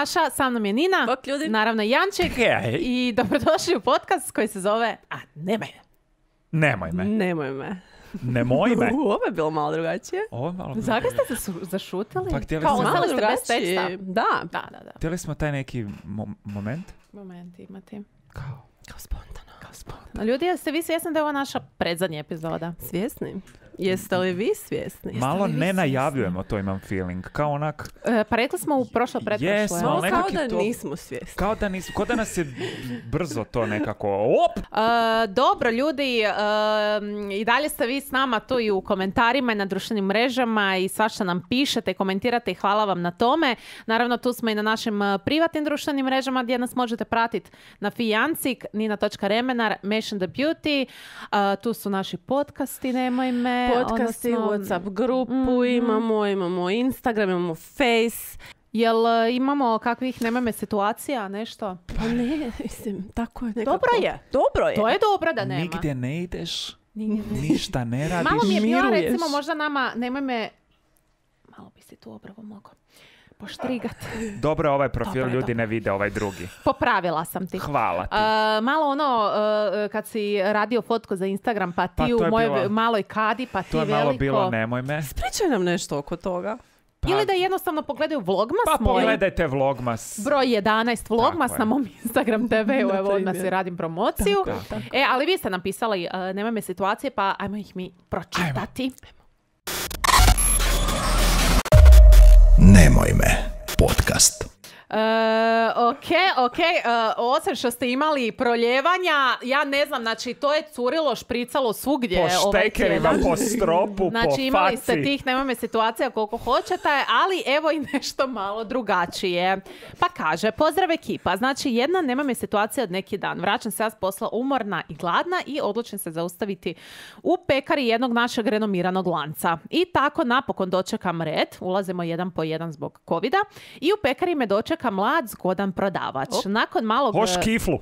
Maša, sa mnom je Nina, Bok, ljudi. naravno Janček i dobrodošli u podcast koji se zove Nemoj me. Nemoj me. Nemoj me. Nemoj me. Ovo je bilo malo drugačije. Ovo je malo... Zakaj ste se zašutili? Pa htjeli Kao smo- ostali ste bez drugačije. teksta. Da. Da. Htjeli smo taj neki moment? Moment imati. Kao spontano. Ljudi, jeste vi svjesni da je ovo naša predzadnja epizoda? Svjesni? Jeste li vi svjesni? Malo li vi ne svjesni? najavljujemo, to imam feeling. Kao onak... Pa rekli smo u pretprošloj. Jesmo, Malo ali kao nekak da je to... nismo svjesni. Kao da nas je brzo to nekako... Op! Dobro, ljudi, i dalje ste vi s nama tu i u komentarima i na društvenim mrežama i svašta nam pišete i komentirate i hvala vam na tome. Naravno, tu smo i na našim privatnim društvenim mrežama gdje nas možete pratiti na Fijancik, Nina.Remenar, Mation the Beauty. Tu su naši podcasti, Nemoj me. Podcasti, WhatsApp grupu imamo Instagram, imamo Face. Jel imamo kakvih Nemoj me situacija, nešto? Pa ne, mislim, tako je nekako. Dobro je. To je. To je dobro da nema. Nigdje ne ideš, ništa ne radiš. Malo mi je bila, Miruješ. recimo, možda nama, nemoj me, malo bi si tu obravo mogao poštrigat. Dobro, ovaj profil Dobro, ljudi dobro. ne vide, ovaj drugi. Popravila sam ti. Hvala ti. Malo ono, kad si radio fotku za Instagram, pa ti Pa to u je mojoj bilo- maloj kadi, pa ti To je veliko. malo bilo nemoj me. Pričaj nam nešto oko toga. Pa, Ili da jednostavno pogledaju Vlogmas pa moj. pogledajte Vlogmas. Broj 11 Vlogmas Tako je. na mom Instagram TV-u, Na evo odmah primjer. si radim promociju. Tako. Ali vi ste napisali nemoj me situacije, pa ajmo ih mi pročitati. Nemoj me, podcast. Ok, osim što ste imali proljevanja, ja ne znam, znači to je curilo, špricalo svugdje Po ovaj štekerima, tjedan. po stropu, Znači po imali faci. ste tih, nemoj me situacija koliko hoćete, ali evo i nešto malo drugačije. Pa kaže, pozdrav ekipa, znači jedna nemoj me situacija od neki dan. Vraćam se ja s posla umorna i gladna i odlučim se zaustaviti u pekari jednog našeg renomiranog lanca. I tako napokon dočekam red, ulazimo jedan po jedan zbog covida i u pekari me dočeka mlad, zgodan prodavač. Nakon malog... Hoš kiflu.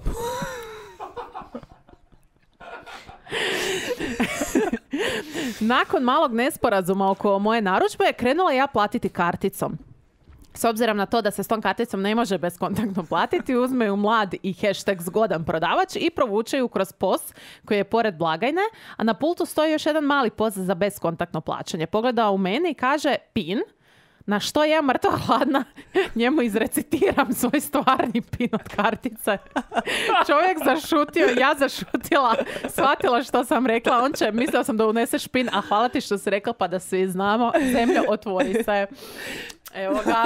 Nakon malog nesporazuma oko moje narudžbe, krenula ja platiti karticom. S obzirom na to da se s tom karticom ne može bezkontaktno platiti, uzme ju mlad i hashtag zgodan prodavač i provuče ju kroz POS koji je pored blagajne, a na pultu stoji još jedan mali POS za bezkontaktno plaćanje. Pogledao u mene i kaže PIN, na što ja mrtva hladna njemu izrecitiram svoj stvarni PIN od kartice. Čovjek zašutio, ja zašutila, shvatila što sam rekla. On će, mislila sam da uneseš PIN, a hvala ti što si rekla pa da svi znamo. Zemlja, otvori se. Evo ga.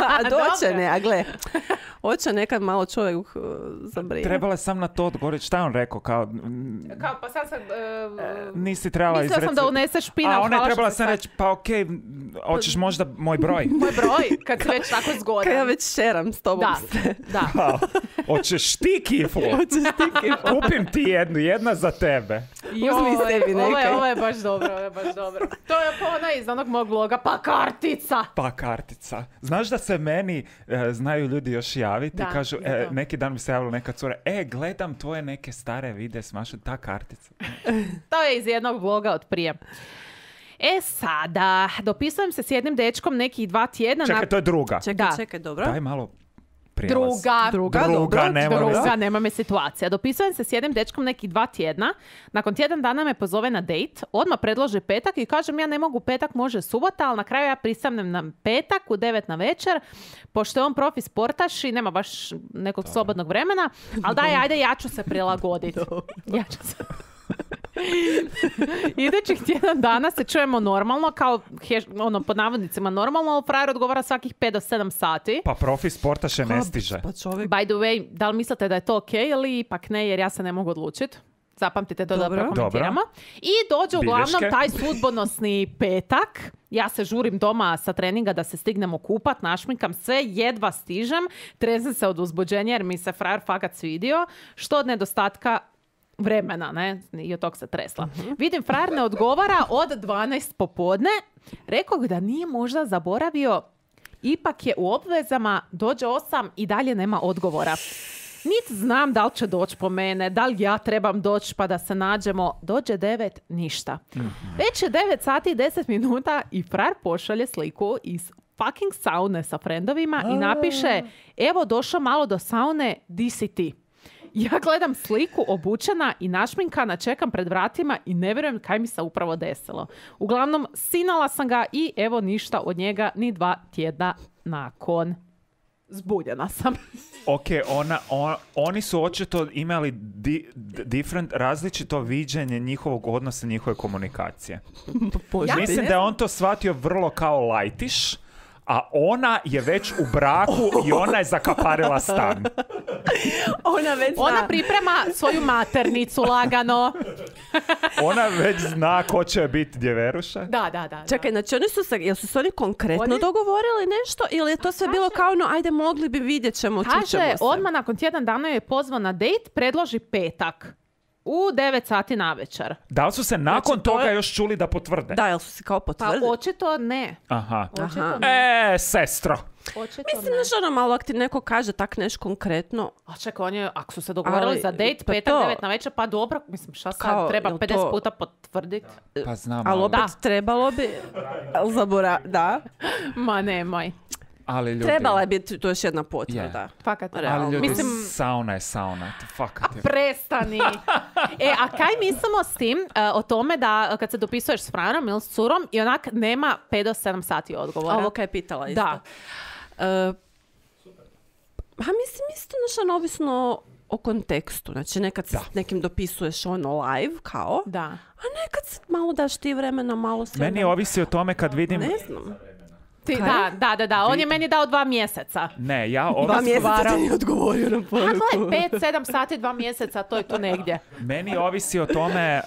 A doće Dobro. ne, a gle. Hoće nekad malo čovjek zabrije. Trebala sam na to odgovoriti. Šta je on rekao? Kao, Kao, pa sad sam... nisi trebala mislila sam da uneseš PIN, A ali ona je hvala trebala što si sam sad- reći, pa okej, hoćeš možda moj broj? Moj broj, kad si već tako zgodan. Kad ja već šeram s tobom Da, se. da. Pa, hoćeš ti kiflu? Kupim ti jednu, jedna za tebe. Uzmi sebi nekaj. Ovo je baš dobro, To je pa ona iz onog mog bloga, pa kartica. Pa kartica. Znaš da se meni znaju ljudi još javiti Da, i kažu, za to. neki dan mi se javila neka cura, gledam tvoje neke stare videe s Mašom, ta kartica. To je iz jednog bloga od prije. Sada, dopisujem se s jednim dečkom nekih 2 tjedna. Čekaj, to je druga. Čekaj, dobro. Daj malo prijelaz. Druga, nema nema me situacija. Dopisujem se s jednim dečkom nekih 2 tjedna. Nakon tjedan dana me pozove na dejt. Odmah predloži petak i kažem ja ne mogu petak, može subota, ali na kraju ja pristanem na petak u 9 na večer. Pošto je on profi sportaš i nema baš nekog slobodnog vremena. Ali daj, ajde, ja ću se prilagoditi. Ja ću se... Idućih tjedan dana se čujemo normalno, kao pod navodnicima normalno, ali frajer odgovara svakih 5 do 7 sati. Pa profi sportaše ne stiže. Pa čovjek. By the way, da li mislite da je to ok ili ipak ne, jer ja se ne mogu odlučiti? Zapamtite to da Dobro. prokomentiramo. I dođe uglavnom Bilješke. taj sudbonosni petak. Ja se žurim doma sa treninga da se stignemo kupat, našminkam sve, jedva stižem. Trezem se od uzbuđenja jer mi se frajer fakat svidio. Što od nedostatka vremena, ne? I od tog se tresla. Vidim, frajer ne odgovara od 12 popodne. Rekao da nije možda zaboravio, ipak je u obvezama, dođe 8 i dalje nema odgovora. Niti znam da li će doći po mene, da li ja trebam doći pa da se nađemo. Dođe 9, ništa. Već je 9 sati i 10 minuta i frajer pošalje sliku iz fucking saune sa frendovima i napiše, evo došao malo do saune, di si ti? Ja gledam sliku obučena i našminkana, čekam pred vratima i ne vjerujem kaj mi se upravo desilo. Uglavnom, sinala sam ga i evo ništa od njega ni 2 tjedna nakon. Zbunjena sam. Ok, oni su očito imali različito viđenje njihovog odnosa, njihove komunikacije. Mislim da je on to shvatio vrlo kao lajtiš, a ona je već u braku i ona je zakaparila stan. Ona priprema svoju maternicu lagano. Ona već zna ko će biti djeveruša. Da. Čekaj, znači jel su se oni konkretno dogovorili nešto ili je to sve bilo kao ono, ajde mogli bi vidjet ćemo, čućemo se? Kaže, odmah nakon tjedan dana je pozvan na dejt, predloži petak. U 9 sati navečer. Da li su se nakon toga još čuli da potvrde? Da, jel su se kao potvrdili? Pa očito ne. Aha. Očito ne. Sestro. Mislim da što ono malo, ako ti neko kaže tak nešto konkretno. A čekaj, on je, ako su se dogovorili za dejt, petak 9 na večer, pa dobro, mislim, šta sad, Kao, treba jel 50 to- puta potvrditi? Pa znam. Ali opet trebalo bi... Da. Ma nemoj. Ali ljudi... Trebala je biti to još jedna potvrda. Fakat. Ali ljudi, Mislim, sauna je sauna. Fakat je. prestani. A kaj mislimo s tim, o tome da kad se dopisuješ s frajerom ili s curom i onak nema 5 do 7 sati odgovora? Ovo kaj je pitala isto. Da. Mislim isto nešto ovisno o kontekstu. Znači nekad se s nekim dopisuješ ono live kao, Da. a nekad se malo daš ti vremena, malo sve. Meni ovisi o tome kad vidim... Ne znam. Da. On je meni dao 2 mjeseca. Ne, ja 2 ovisi... mjeseca ti nije odgovorio na A poruku. gle, 5-7 sati, 2 mjeseca, to je tu negdje. Meni ovisi o tome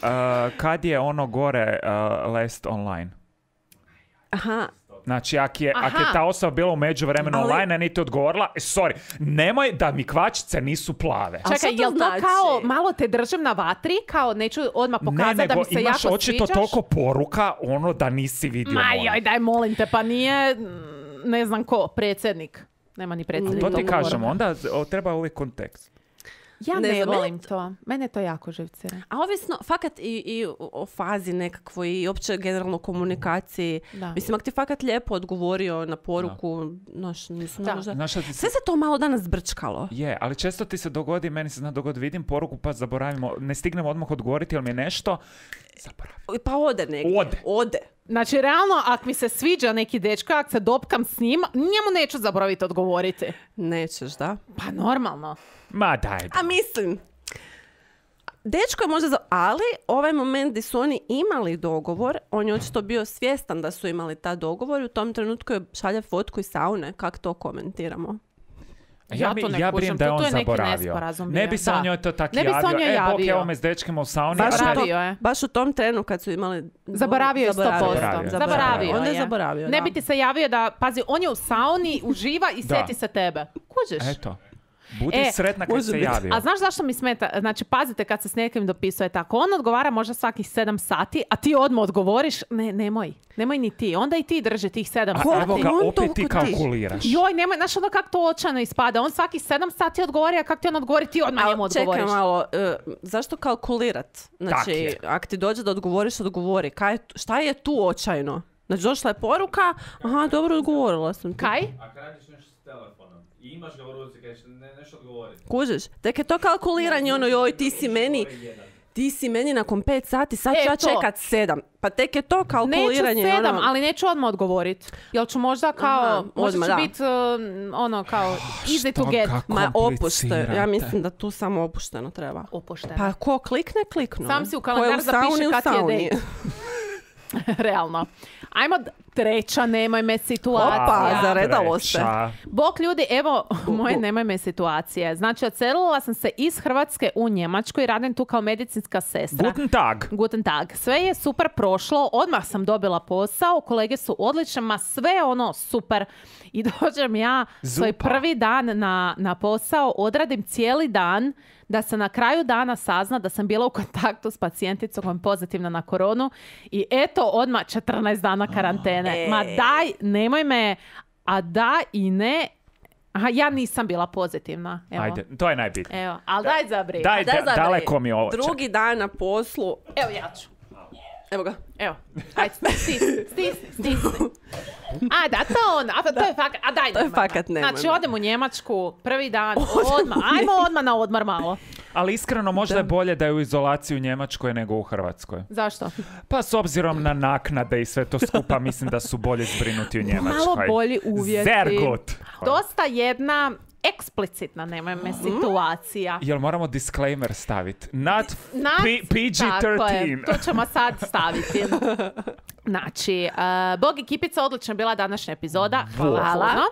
kad je ono gore last online. Aha. Znači, ako je Aha. ta osoba bila u međuvremenu Ali- online, a niti odgovorila, sorry, nemoj da mi kvačice nisu plave. A Čekaj, šta to jel to znači? kao malo te držim na vatri, kao neću odmah Ne, pokazati da nego mi se imaš jako očito sviđaš? toliko poruka, ono da nisi vidio. Ma molim. joj, daj molim te, pa nije, ne znam ko, predsjednik. Nema ni predsjednik. To ti toliko kažem, poruka. onda treba uvijek kontekst. Ja Ne ne znam, volim to. Mene to jako živcira. A ovisno, fakat i o fazi nekakvoj i opće generalno komunikaciji. Da. Mislim, ako ti fakat lijepo odgovorio na poruku, mislim, Da. možda... Znaš šta ti se... Sve se to malo danas zbrčkalo. Je, ali često ti se dogodi, meni se zna dogoditi, vidim poruku pa zaboravimo, ne stignemo odmah odgovoriti, ali mi je nešto, zaboravim. Pa ode negdje. Ode. Znači, realno, ako mi se sviđa neki dečko, ako se dopkam s njim, njemu neću zaboraviti odgovoriti. Nećeš, da? Pa normalno. Ma daj. A mislim, dečko je možda ali ovaj moment gdje su oni imali dogovor, on je očito bio svjestan da su imali ta dogovor i u tom trenutku je šalje fotku iz saune. Kako to komentiramo? Ja to ne ja kužim, brijem da je to on je neki zaboravio. nesporazum Ne bio. bi se Da. on njoj to tako Ne bi se on javio. njoj Bok, javio. evo me s dečkima u sauni. Baš, a ne- Zaboravio je. baš u tom trenu kad su imali... Zaboravio je 100%. Zaboravio. Onda je je. zaboravio, Ne da. bi ti se javio da, pazi, on je u sauni, uživa i Da. sjeti se tebe. Kužiš? Eto. Budi sretna kad može se biti. javio. A znaš zašto mi smeta? Znači, pazite kad se s nekim dopisuje tako. On odgovara možda svakih 7 sati, a ti odmah odgovoriš, nemoj ni ti. Onda i ti drži tih 7 A sati. evo ga, on opet ti toliko ti. kalkuliraš. Joj, nemoj, znaš ono kako to očajno ispada. On svaki 7 sati odgovori, a kako ti on odgovori, ti odmah njemu odgovoriš. Čekaj malo, zašto kalkulirat? Znači, je. ako ti dođe da odgovoriš, odgovori. Šta je tu očajno? Znači, došla je poruka, aha, dobro, odgovorila sam ti. Kaj? Ako radiš nešto s telefonom i imaš ga u ruci, kažeš nešto odgovoriti. Kužiš? Tek je to kalkuliranje, ono, joj, ti si meni nakon 5 sati, sad ću ja to. čekat 7. Pa tek je to Neću kalkuliranje. 7, ono, ali neću odmah odgovorit. Jel ću možda kao, Aha, možda odmah, ću da. biti ono kao easy to Što get. ga Ma opušte, komplicirate. ja mislim da tu samo opušteno treba. Opušteno. Pa ko klikne, kliknu. Sam si u Ko je kalendar sauni, zapiše u kad ti je sauni. dejt. Realno. Ajmo treća, nemoj me situacija. Opa, zaredalo se. Treća. Bok ljudi, evo moje nemoj me situacije. Znači, odselila sam se iz Hrvatske u Njemačku i radim tu kao medicinska sestra. Guten Tag. Guten Tag. Sve je super prošlo, odmah sam dobila posao, kolege su odlične, ma sve ono super. I dođem ja svoj Zupa. prvi dan na posao, odradim cijeli dan, da se na kraju dana sazna da sam bila u kontaktu s pacijenticom koja je pozitivna na koronu i eto odmah 14 dana karantene. Ma daj, nemoj me, a da i ne, aha, ja nisam bila pozitivna. Evo. Ajde, to je najbitnije. Evo, ali daj zabri. Daj, Daj zabri. daleko mi je ovo. Drugi dan na poslu. Evo ja ću. Evo ga. Evo, ajde, stisni. A, da, to je fakat, a daj To je nemoj. fakat nemoj. Znači, odem u Njemačku, prvi dan, odmah, ajmo odmah na odmor malo. Ali iskreno možda je bolje da je u izolaciji u Njemačkoj nego u Hrvatskoj. Zašto? Pa s obzirom na naknade i sve to skupa, mislim da su bolje zbrinuti u Njemačkoj. Malo bolji uvjeti. Sehr gut. Dosta jedna eksplicitna, nemoj me, situacija. Jel moramo disclaimer staviti? Not Tako je, PG-13. to ćemo sad staviti. Znači, Bog i Kipica, odlična je bila današnja epizoda. Hvala. Puno.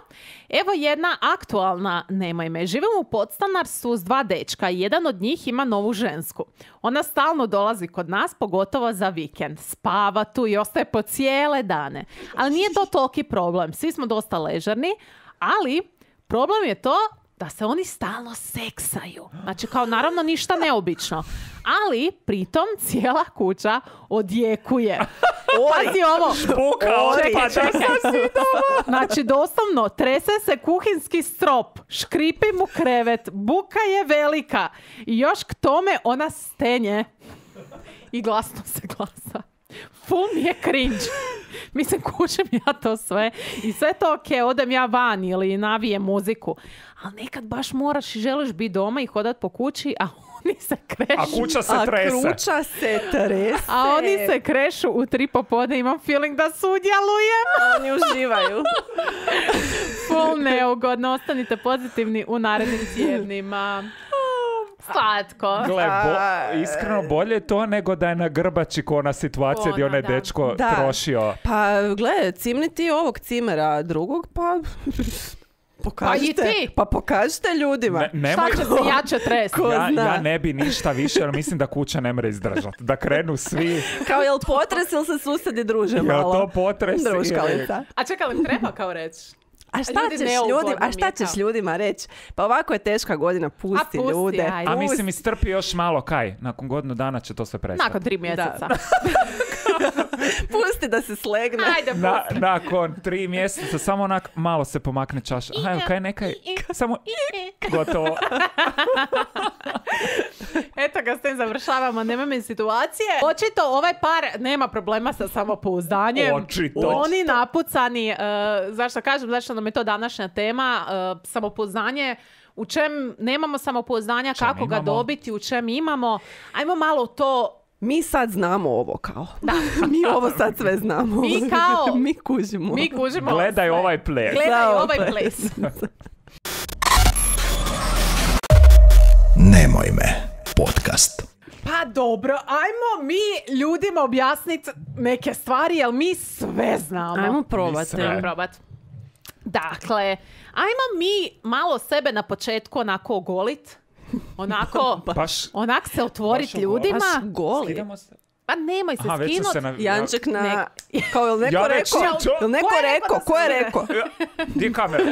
Evo jedna aktualna, nemoj me. Živimo u podstanarstvu s 2 dečka i jedan od njih ima novu žensku. Ona stalno dolazi kod nas, pogotovo za vikend. Spava tu i ostaje po cijele dane. Ali nije to toliki problem. Svi smo dosta ležerni, ali problem je to da se oni stalno seksaju. Znači, kao naravno ništa neobično. Ali, pritom, cijela kuća odjekuje. Pazi ovo. Znači, doslovno, trese se kuhinski strop, škripi mu krevet, buka je velika. I još k tome ona stenje. I glasno se glasa. Full mi je cringe. Mislim, kušim ja to sve. I sve to odem ja van ili navijem muziku. Ali nekad baš moraš i želiš biti doma i hodat po kući, a oni se krešu. A kuća se trese. A oni se krešu u 3 popodne. Imam feeling da sudjelujem. Oni uživaju. Full neugodno. Ostanite pozitivni u narednim tjednima. Slatko. Gle, iskreno bolje je to nego da je na grbači ko ona situacija gdje onaj dečko trošio. Pa gle, cimni ti ovog cimera drugog, pa... Pokažite, pa i ti. Pa pokažite ljudima. Šta će se jače tresti? Ja ne bi ništa više, jer mislim da kuća ne mre izdržati. Da krenu svi... Kao jel potres ili se susedi druže malo? Jel to potres? Druškalica. A čekaj, li treba kao reći? A šta ćeš ljudima reći? Pa ovako je teška godina, pusti ljude. A mislim, istrpi još malo, kaj? Nakon godinu dana će to sve prestati. Nakon 3 mjeseca. Pusti da se slegne. Ajde, pusti. Nakon 3 mjeseca samo onak malo se pomakne čaša. Ajde, kaj nekaj? Samo gotovo. Eto ga, s tim završavamo. Nema mi situacije. Očito ovaj par nema problema sa samopouzdanjem. Očito. Oni napucani, zašto kažem, zašto nam je to današnja tema, samopouzdanje. U čem nemamo samopouzdanja, kako ga dobiti, u čem imamo. Ajmo malo to... Mi sad znamo ovo kao. Da. Mi ovo sad sve znamo. Mi kao... Mi kužimo. Gledaj ovaj ples. Nemoj me podcast. Pa dobro, ajmo mi ljudima objasniti neke stvari, jer mi sve znamo. Ajmo probati. Dakle, ajmo mi malo sebe na početku onako ogolit. Onako, onak se otvoriti ljudima. Baš goli. Pa nemoj se skinuti. Janček na... Kao je li neko rekao? Je li neko rekao? Ko je rekao? Gdje je kamera?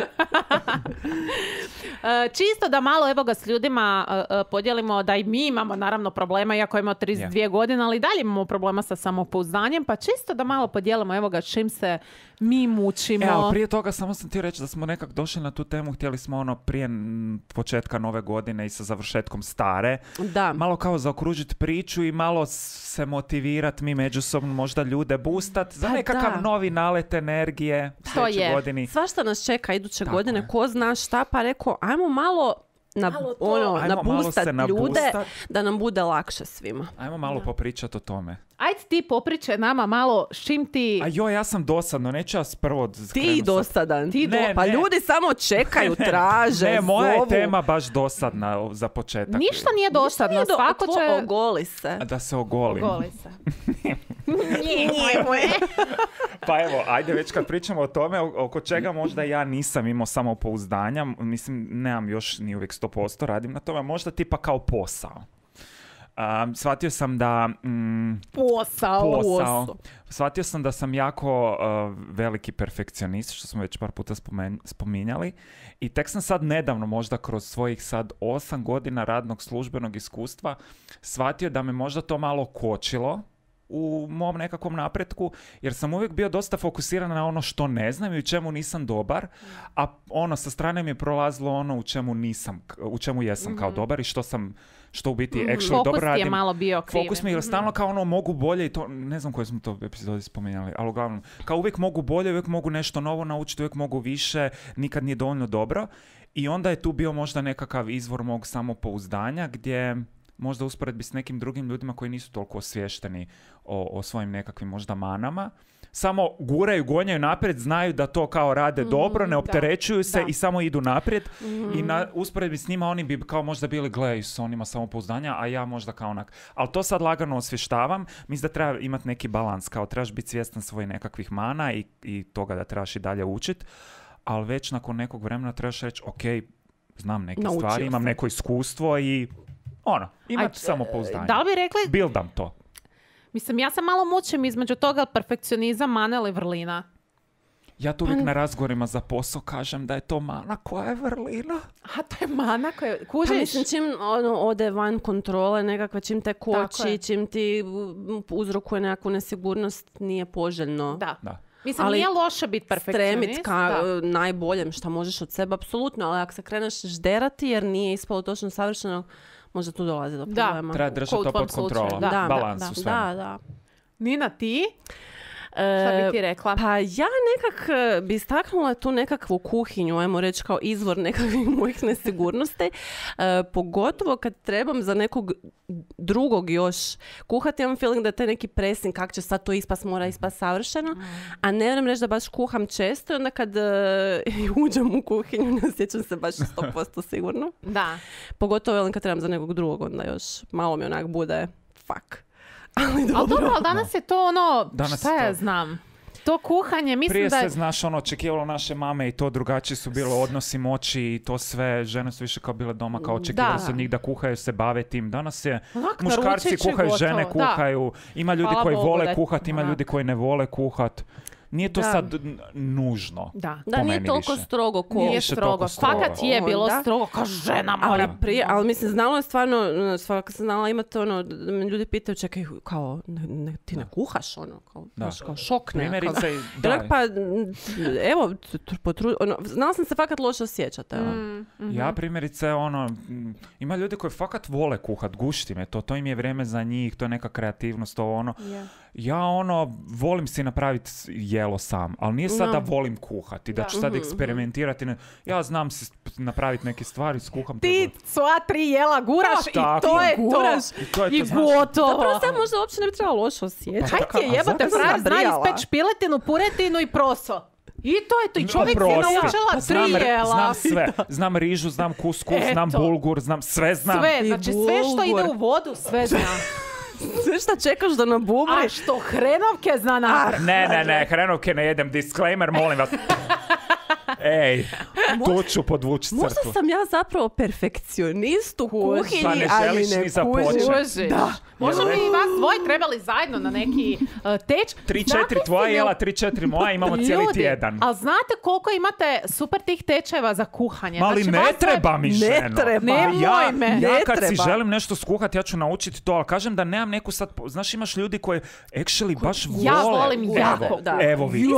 Čisto da malo evo ga s ljudima podijelimo da i mi imamo naravno problema, iako imamo 32 godine, ali dalje imamo problema sa samopouzdanjem, pa čisto da malo podijelimo evo ga čim se mi mučimo. Evo, prije toga samo sam ti reći da smo nekak došli na tu temu, htjeli smo ono prije početka nove godine i sa završetkom stare, malo kao zaokružiti priču i malo se motivirati mi međusobno, možda ljude boostat za nekakav novi nalet energije u sljedećoj godini. Svašta nas čeka iduće godine, ko zna šta, pa rekao, ajmo malo nabustat ljude da nam bude lakše svima. Ajmo malo popričati o tome. Ajde ti popričaj nama malo s čim ti... A joj, ja sam dosadno, neću ja prvo... Ti dosadan. Pa ljudi samo čekaju, traže, Ne, moja je tema baš dosadna za početak. Ništa nije dosadno, svako će... Ogoli se. Da se ogolim. Ogoli se. Pa evo, ajde već kad pričamo o tome, oko čega možda ja nisam imao samopouzdanja, mislim, nemam još ni uvijek 100%, radim na tome, možda tipa kao posao. Shvatio sam da... Posao. Shvatio sam da sam jako veliki perfekcionist, što smo već par puta spominjali. I tek sam sad nedavno, možda kroz svojih sad 8 godina radnog službenog iskustva, shvatio da me možda to malo kočilo u mom nekakvom napretku, jer sam uvijek bio dosta fokusiran na ono što ne znam i u čemu nisam dobar, a ono sa strane mi je prolazilo ono u čemu jesam kao dobar i što u biti actually Fokus dobro ti je radim. malo bio krivi. Fokus mi je stalno kao ono mogu bolje i to, ne znam koje smo to epizodi spominjali, ali uglavnom, kao uvijek mogu bolje, uvijek mogu nešto novo naučiti, uvijek mogu više, nikad nije dovoljno dobro. I onda je tu bio možda nekakav izvor mog samopouzdanja gdje možda usporedbi s nekim drugim ljudima koji nisu toliko osviješteni o svojim nekakvim možda manama, samo guraju, gonjaju naprijed, znaju da to kao rade dobro, ne opterećuju se i samo idu naprijed. I na usporedbi s njima oni bi kao možda bili gledaju s onima samopouzdanja, a ja možda kao onak. Ali to sad lagano osvještavam. Mislim da treba imati neki balans, kao trebaš biti svjestan svojih nekakvih mana i toga da trebaš i dalje učiti. Ali već nakon nekog vremena trebaš reći, ok, znam neke Naučio stvari, imam sam. neko iskustvo i imati samopouzdanje. Da li bi rekli, Buildam to. mislim, ja sam malo mučim između toga perfekcionizam, mana ili vrlina. Ja tu uvijek na razgovorima za posao kažem da je to mana koja je vrlina. A to je mana koja... Pa Kužiš? mislim, čim ode van kontrole nekakve, čim te Tako je. koči, čim ti uzrokuje nekakvu nesigurnost, nije poželjno. Da. Mislim, Ali nije loše biti perfekcionist. Stremit ka najboljem što možeš od sebe, apsolutno, ali ako se kreneš žderati jer nije ispalo točno savršeno, možda tu dolazi do problema. Treba držati Ko u to tvom pod kontrolom. slučaju, da. Balans u svemu. Da. Nina, ti? Šta bi ti rekla? Pa ja nekak bi istaknula tu nekakvu kuhinju, ajmo reći kao izvor nekakvih mojih nesigurnosti. Pogotovo kad trebam za nekog drugog još kuhati, imam feeling da je taj neki pressing, kak će sad to ispast, mora ispast savršeno. A ne vjerujem reći da baš kuham često i onda kad uđem u kuhinju ne osjećam se baš 100% sigurno. Da. Pogotovo velim kad trebam za nekog drugog, onda još malo mi onak bude fuck. Ali dobro, ali danas je to ono, Danas šta je ja to- znam, to kuhanje, mislim Prije da se, je... znaš, očekivalo naše mame i to drugačiji su bili odnosi moći i to sve, žene su više kao bile doma, kao očekivalo se od njih da kuhaju, se bave tim. Danas je, Onak, muškarci naručit će kuhaju, gotovo, žene da. kuhaju, ima ljudi Hvala koji Bogu da vole je kuhat, ima onak. ljudi koji ne vole kuhat. Nije to Da. sad nužno. Da. Da, po nije meni toliko više. strogo ko... Nije više strogo. toliko strogo. Fakat je bilo Onda- strogo, kao žena mora. Ali mislim, znalo je stvarno, svaka sam znala imati ono, da me ljudi pitaju, čekaj, kao, ti ne kuhaš, ono, kao, Da. znaš, kao šok nekakav. Primjerice, Onak, da, pa, evo, znala sam se fakat loše osjećati, evo. ja primjerice, ima ljudi koji fakat vole kuhat, gušti me to im je vrijeme za njih, to je neka kreativnost, to ono. Ja volim si napraviti jelo sam, ali nije sad da volim kuhati, da ću sad eksperimentirati. Ja znam si napraviti neke stvari, skuham to. Ti sva 3 jela guraš Pa, i tako. to je Guraš. to. I to je to, I znaš. gotovo. Zapravo se možda uopće ne bi trebalo loše osjećati. Kaj ti je A jebate, zato sam frajer zna zabrijala. ispeć piletinu, puretinu i proso. I to je to. I čovjek se Oprosti. naučila Pa 3 jela. Znam sve. Znam rižu, znam kuskus, znam Eto. bulgur, znam sve znam. Sve, I znači sve što ide bulgur. u vodu, sve zna. Sve šta čekaš da nabubri? A što hrenovke zna napraviti. Ne, hrenovke ne jedem. Disclaimer, molim vas. Ej, tu ću podvući Možda crtu. sam ja zapravo perfekcionist u Pa kuhinji, ne ali želiš ne ni započet. kužim. Kužiš. Da. Možda Jel bi ne? vas dvoje trebali zajedno na neki teč. 3-4 tvoja jela, 3-4 moja, imamo cijeli Ljudi, tjedan. ali znate koliko imate super tih tečajeva za kuhanje? Mali Znači, ne vas dvoje- treba mi Ne ženo. treba. Nemoj Ja, me. ja Ne kad si treba. želim nešto skuhati, ja ću naučiti to, ali kažem da nemam neku sad... Znaš, imaš ljudi koji actually baš vole. Ja volim Evo, jako. Da. Evo vidi. Ti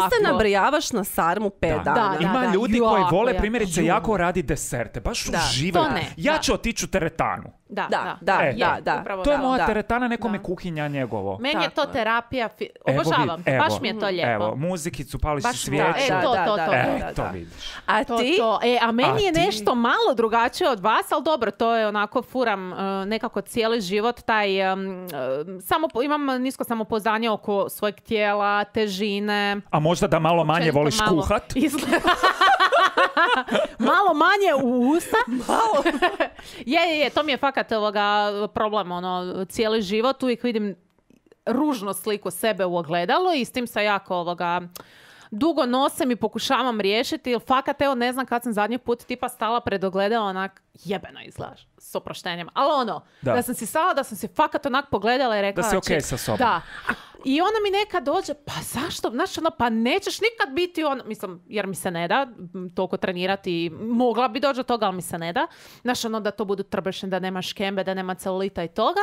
se Jako. nabrijavaš na sarmu 5 Da. dana. Da. Ima ljudi koji jako, vole jako. primjerice jako radi deserte, baš Da. uživaju. To ne, Ja da. ću otići u teretanu. Da, E, da. upravo To je da. moja da. teretana, nekome Da. kuhinja njegovo. Meni je to Tako je. terapija, Evo obožavam, vidi, evo. baš mi je to lijepo. Evo, muzikicu, pališ Baš si volim. svijeću. E, to. To vidiš. A To, ti? to. A meni A je ti? nešto malo drugačije od vas, ali dobro, to je onako furam nekako cijeli život, taj, imam nisko samopouzdanje oko svojeg tijela, težine. A možda da malo manje Općenito voliš malo kuhat? izgleda- malo manje u usta. Malo. je, to mi je fakat problem, cijeli život, uvijek vidim ružnu sliku sebe u ogledalu i s tim se jako dugo nosem i pokušavam riješiti, jer fakat, evo, ne znam kad sam zadnji put tipa stala pred ogledalo, onak, jebeno izgledaš, s oproštenjem. Ali da sam si stala, da sam si fakat onak pogledala i rekla... Da si okej sa sobom. Da. I ona mi nekad dođe, pa zašto, znaš, pa nećeš nikad biti mislim, jer mi se ne da toliko trenirati, mogla bi doći do toga, ali mi se ne da. Znaš, da to budu trbušne, da nema škembe, da nema celulita i toga.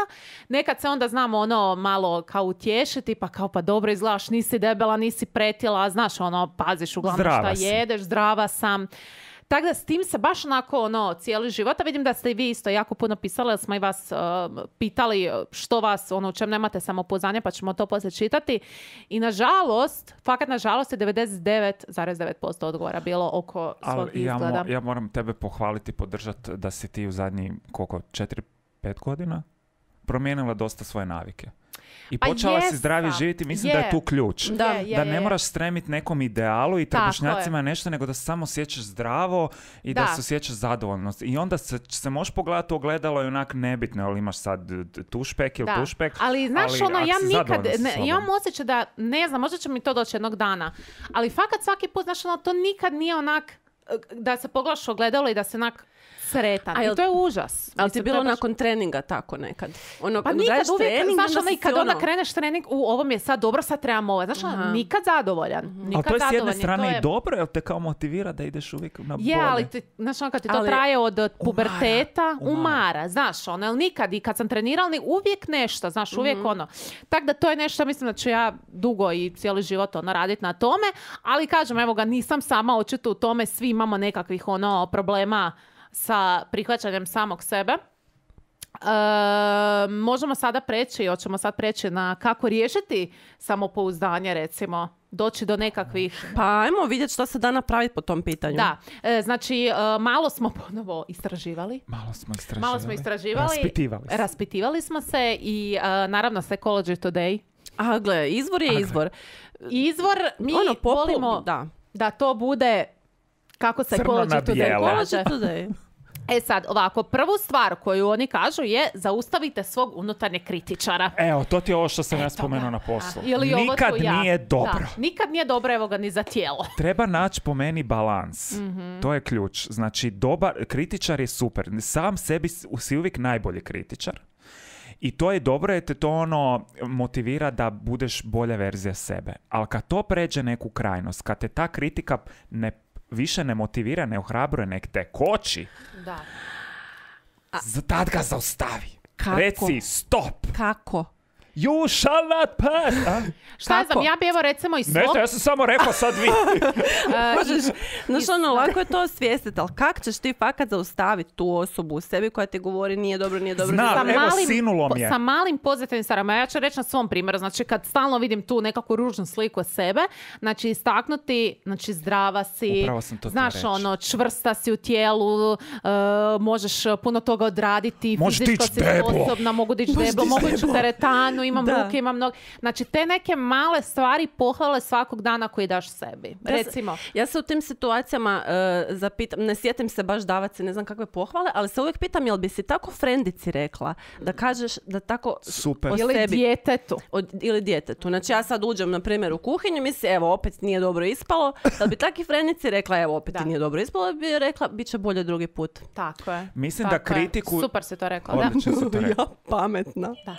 Nekad se onda znamo malo kao utješiti, pa kao pa dobro izgledaš, nisi debela, nisi pretila, znaš, paziš uglavnom Zdrava šta si. jedeš, zdrava sam. Tako da s tim se baš onako cijeli život, a vidim da ste i vi isto jako puno pisali, jer smo i vas pitali što vas, u čem nemate samopouzdanje, pa ćemo to poslije čitati. I nažalost, fakat nažalost je 99,9% odgovora bilo oko svog izgleda. Ja moram tebe pohvaliti, podržati da si ti u zadnji, 4-5 godina promijenila dosta svoje navike. I počela si zdravije živjeti, mislim da je tu ključ. Da ne moraš stremiti nekom idealu i trbušnjacima nešto, nego da se samo osjećaš zdravo i da se osjećaš zadovoljno. I onda se možeš pogledati u ogledalo i onak nebitno, ali imaš sad tušpek ili tušpek. Ali znaš, ja nikad, imam osjećaj da, ne znam, možda će mi to doći jednog dana, ali fakat svaki put, znaš, to nikad nije onak da se pogledaš u ogledalo i da se onak sretan. I to je užas. Ali ti je bilo nakon treninga tako nekad? Pa nikad uvijek, znaš, kad onda kreneš trening, ovo mi je sad dobro, sad trebam ovo. Znaš, nikad zadovoljan. Ali to je s jedne strane i dobro, jer te kao motivira da ideš uvijek na bolje. Ali znaš, kad ti to traje od puberteta, umara. Znaš, jer nikad, i kad sam trenirala, uvijek nešto, znaš, uvijek Tako da to je nešto, mislim da ću ja dugo i cijeli život raditi na tome, ali kažem, evo ga, nisam sama očito u tome, svi imamo nekakvih problema sa prihvaćanjem samog sebe. Možemo sada hoćemo sad preći na kako riješiti samopouzdanje, recimo, doći do nekakvih... Pa ajmo vidjeti što se da napraviti po tom pitanju. Da, znači malo smo ponovo istraživali. Malo smo istraživali. Raspitivali smo se i naravno Psychology Today. A gle, izvor je izvor. Izvor, mi volimo da to bude kako Psychology Today kaže. Sad, ovako, prvu stvar koju oni kažu je zaustavite svog unutarnjeg kritičara. Evo, to ti je ovo što sam ja spomenuo na poslu. Nikad nije dobro. Nikad nije dobro, evo ga, ni za tijelo. Treba naći po meni balans. To je ključ. Znači, dobar kritičar je super. Sam sebi si uvijek najbolji kritičar. I to je dobro jer te to motivira da budeš bolja verzija sebe. Ali kad to pređe neku krajnost, kad te ta kritika više ne motivira, ne ohrabruje, nek te koči. Da. Tad ga zaustavi. Kako? Reci stop. Kako? You shall not pass. Šta znam, ja bi evo recimo i svog... Nešto, ja sam samo rekao sad vi. Znaš, lako je to osvijestiti, ali kako ćeš ti fakat zaustaviti tu osobu u sebi koja ti govori nije dobro, nije dobro. Znam, evo sinulo mi je. Sa malim pozitivnim stvarima. Ja ću reći na svom primjeru. Znači, kad stalno vidim tu nekakvu ružnu sliku sebe, znači istaknuti, znači zdrava si, znaš, čvrsta si u tijelu, možeš puno toga odraditi, fizičko si sposobna, mogu dići deblo, mogu ići u teretanu, imam ruke, imam noge. Znači, te neke male stvari pohvale svakog dana koji daš sebi. Recimo. Ja se u tim situacijama zapitam, ne sjetim se baš davati se ne znam kakve pohvale, ali se uvijek pitam, jel bi si tako frendici rekla da kažeš da tako super. O ili sebi, djetetu. Ili djetetu. Znači, ja sad uđem, na primjer, u kuhinju, misli, evo, opet nije dobro ispalo. Da bi taki frendici rekla, evo, opet nije dobro ispalo, bi rekla, bit će bolje drugi put. Tako je. Mislim da kritiku... Super si to rekla. Odlično si to rekla. Ja, pametna. Da.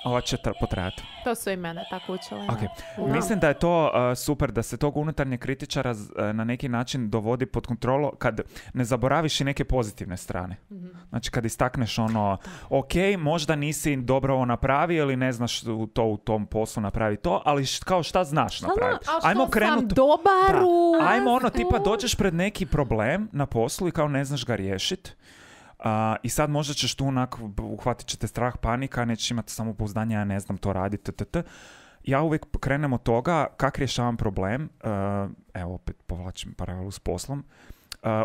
Ova će potrajati. To su i mene tako učili. Okay. Mislim da je to super, da se tog unutarnjeg kritičara na neki način dovodi pod kontrolu kad ne zaboraviš i neke pozitivne strane. Znači kad istakneš ok, možda nisi dobro ovo napravio ili ne znaš to u tom poslu napravi to, ali kao šta znaš napraviti. Ajmo sam dobar Ajmo tipa dođeš pred neki problem na poslu i kao ne znaš ga riješiti. I sad možda ćeš tu uhvatit ćete strah, panika, nećeš imati samopouzdanje, ja ne znam to raditi, Ja uvijek krenem od toga kako rješavam problem, evo opet povlačim paralelu s poslom,